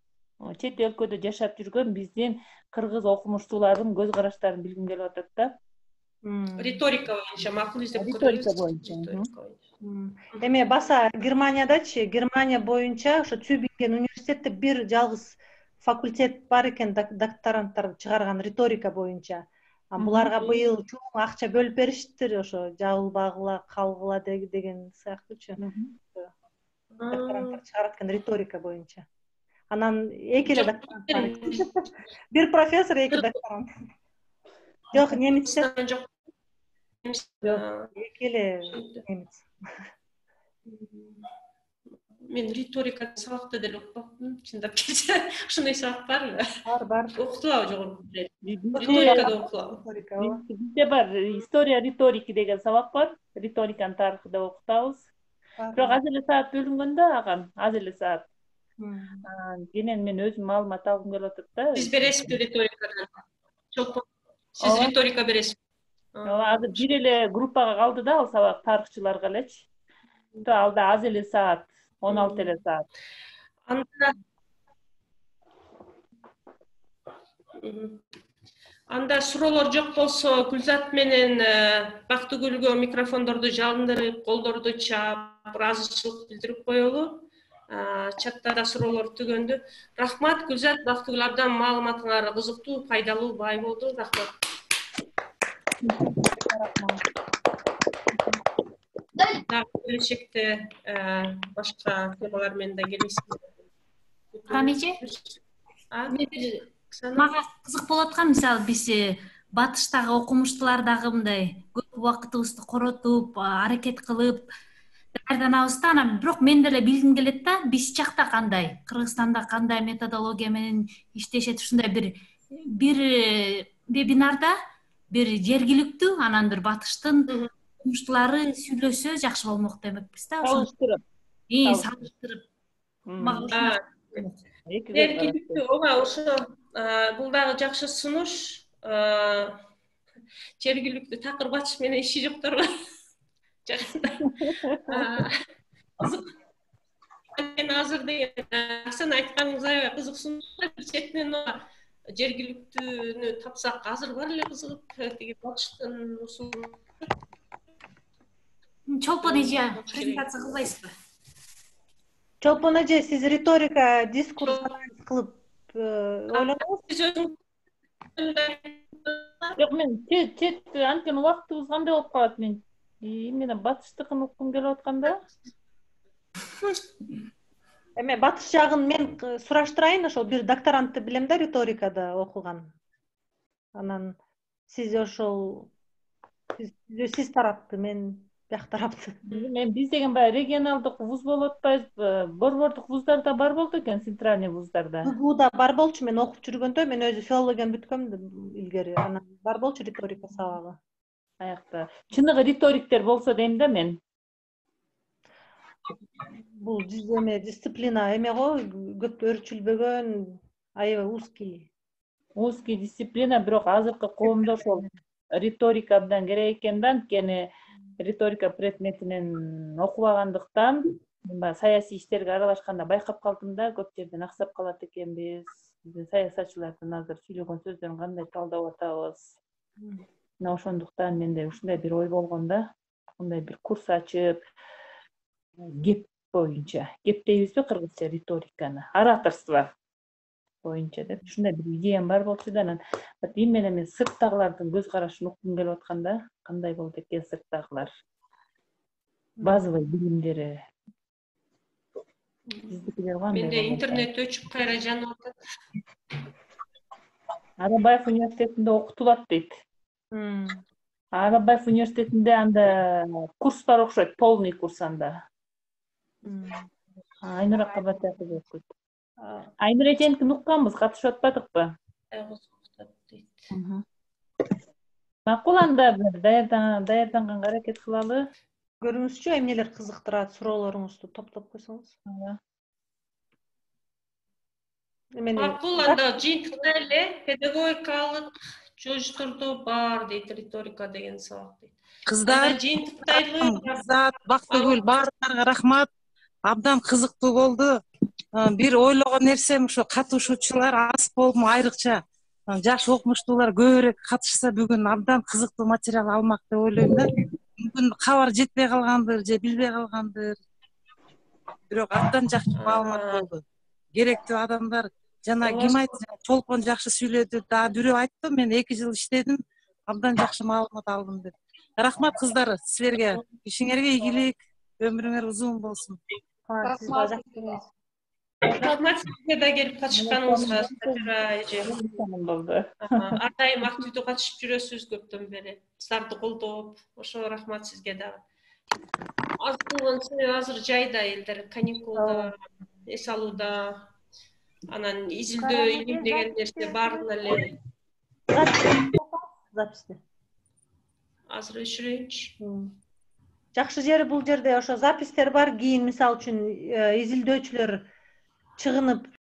чет өлкөдө жашап жүргөн биздин кыргыз окумуштуулардын көз караштарын билгим келип атат да. Риторика боюнча макул издеп көрөбүз. Риторика боюнча. Эме баса Германиядачы, Германия боюнча ошо Тюбинген университетте бир жалгыз факультет бар экен, докторанттар чыгарган риторика боюнча. Буларга быйыл чоң акча бөлүп бериштир, ошо жабылбагыла, калгыла деген сыяктуучу. Докторанттар чыгарат экен риторика боюнча. Анан эки эле докторант бар. Бир профессор, эки докторант. Жок, немецтен жок. Жок, эки эле немец. мен риторика сабакта деле окупапмын, чындап келсе. Ушундай сабак барбы? Бар, бар. Окутулабы жогорку бир? Бизде Риторикада окутулабы? Риторика, ооба. бизде бар история риторики деген сабак бар. Риториканын тарыхы деп окутабыз. Бирок аз эле саат бөлүнгөн да ага, аз эле саат. Анан мен өзүм маалымат алгым келип атат да. Сиз бересизби риторикадан? Чолпон, сиз риторика бересизби? Ооба, азыр бир эле группага калды да ал сабак тарыхчыларга элечи. Ал да аз эле саат, он алты эле саат. Анда Анда суроолор жок болсо, Гүлзат менен Бактыгүлгө микрофондорду жалындырып, колдорду чаап, ыраазычылык билдирип коелу. Чатта да суроолор түгөндү. Рахмат, Гүлзат, Бактыгүл абдан маалыматыңар кызыктуу, пайдалуу, бай болду. Рахмат. Келечекте башка темалар менен да келесиз. Хамиже, мага кызык болуп аткан, мисалы биз батыштагы окумуштуулар дагы мындай көп убакытыбызды коротуп, аракет кылып даярданабыз да, анан бирок мен деле билгим келет да, биз жакта кандай, Кыргызстанда кандай методология менен иштешет, ушундай бир бир вебинарда бир жергиликтүү, анан бир батыштын окумуштуулары сүйлөшсө жакшы болмок демекпиз да. Салыштырып. Ии, салыштырып. Мага Жергиликтүү, ооба, ошо бул дагы жакшы сунуш. Жергиликтүү такыр батыш менен иши жокторго жакында. Мен азыр деген Аксан айтканыңыз аябай кызык сунуш. Бир четинен жергиликтүүнү тапсак азыр бар эле кызыгып, тиги батыштын усулун. Чолпон эже презентация кылбайсызбы? Чолпон эже, сиз риторика дискурс кылып ойлонобузбу? Жок, мен чет анткени убактыбыз кандай болуп калат, мен эмнеден батыштыкын уккум келип атканда. Эме батыш жагын мен сураштырайын, ошол бир докторантты билем да, риторикада окуган. Анан сиз ошол сиз тарапты, мен бияк тарапты. Мен биз деген баягы регионалдык вуз болуп атпайбызбы? Борбордук вуздарда бар болду экен, центральный вуздарда. БГУда бар болчу, мен окуп жүргөндө, мен өзү филологияны бүткөм илгери. Анан бар болчу риторика сабагы. Аякта. Чыныгы риториктер болсо дейм да мен. Бул эме дисциплина эме го, көп өрчүлбөгөн, аябай узкий. Узкий дисциплина, бирок азыркы коомдо ошол риторика абдан керек экен да, анткени риторика предметинен окубагандыктан, мен баягы саясий иштерге аралашканда байкап калдым да, көп жерден аксап калат экенбиз. Биздин саясатчылардын азыр сүйлөгөн сөздөрүн кандай талдап атабыз. Мына ошондуктан менде ушундай бир ой болгон да, мындай бир курс ачып, кеп боюнча, кеп дейбизби кыргызча риториканы, ораторство боюнча деп ушундай бир идеям бар болчу да, анан эми менен мен сырттагылардын көз карашын уккум келип аткан да, кандай болду экен сырттагылар, базовый билимдери. Биздикилер кандай? Менде интернет өчүп кайра жанып атат. Арабаев университетинде окутулат дейт. Арабаев университетинде анда курс бар окшойт, полный курс анда. Айнур Акабатаев окуйт. Айнур эженикин укканбыз, катышып атпадыкпы? Макул, анда бир даярданганга аракет кылалы. Көрүңүзчү, эмнелер кызыктырат, суроолоруңузду топтоп койсоңуз. Макул, анда жыйынтыкта эле педагогикалык жожтордо бар дейт, риторика деген сабак дейт. Кыздар, Зат, Бактыгүл, баарыңарга рахмат. Абдан кызыктуу болду. Бир ойлогон нерсем, ошо катышуучулар аз болму, айрыкча жаш окумуштуулар көбүрөөк катышса бүгүн абдан кызыктуу материал алмак деп ойлойм да. Мүмкүн кабар жетпей калгандыр же билбей калгандыр. Бирок абдан жакшы маалымат болду. Керектүү адамдар, жана ким айтты, Чолпон жакшы сүйлөдү, да бирөө айтты, мен эки жыл иштедим, абдан жакшы маалымат алдым деп. Рахмат кыздар, силерге, ишиңерге ийгилик, өмүрүңөр узун болсун. Рахмат сизге да келип катышканыңызга, Сатира эже. Ар дайым активдүү катышып жүрөсүз көптөн бери. Кыздарды колдоп, ошо рахмат сизге дагы. аз болгонсу азыр жайда элдер каникулда, эс алууда, анан изилдөө, илим деген нерсе баарына эле записти. азыр өчүрөйүнчү. Жакшы жери бул жерде ошо запистер бар, кийин мисалы үчүн изилдөөчүлөр чыгынып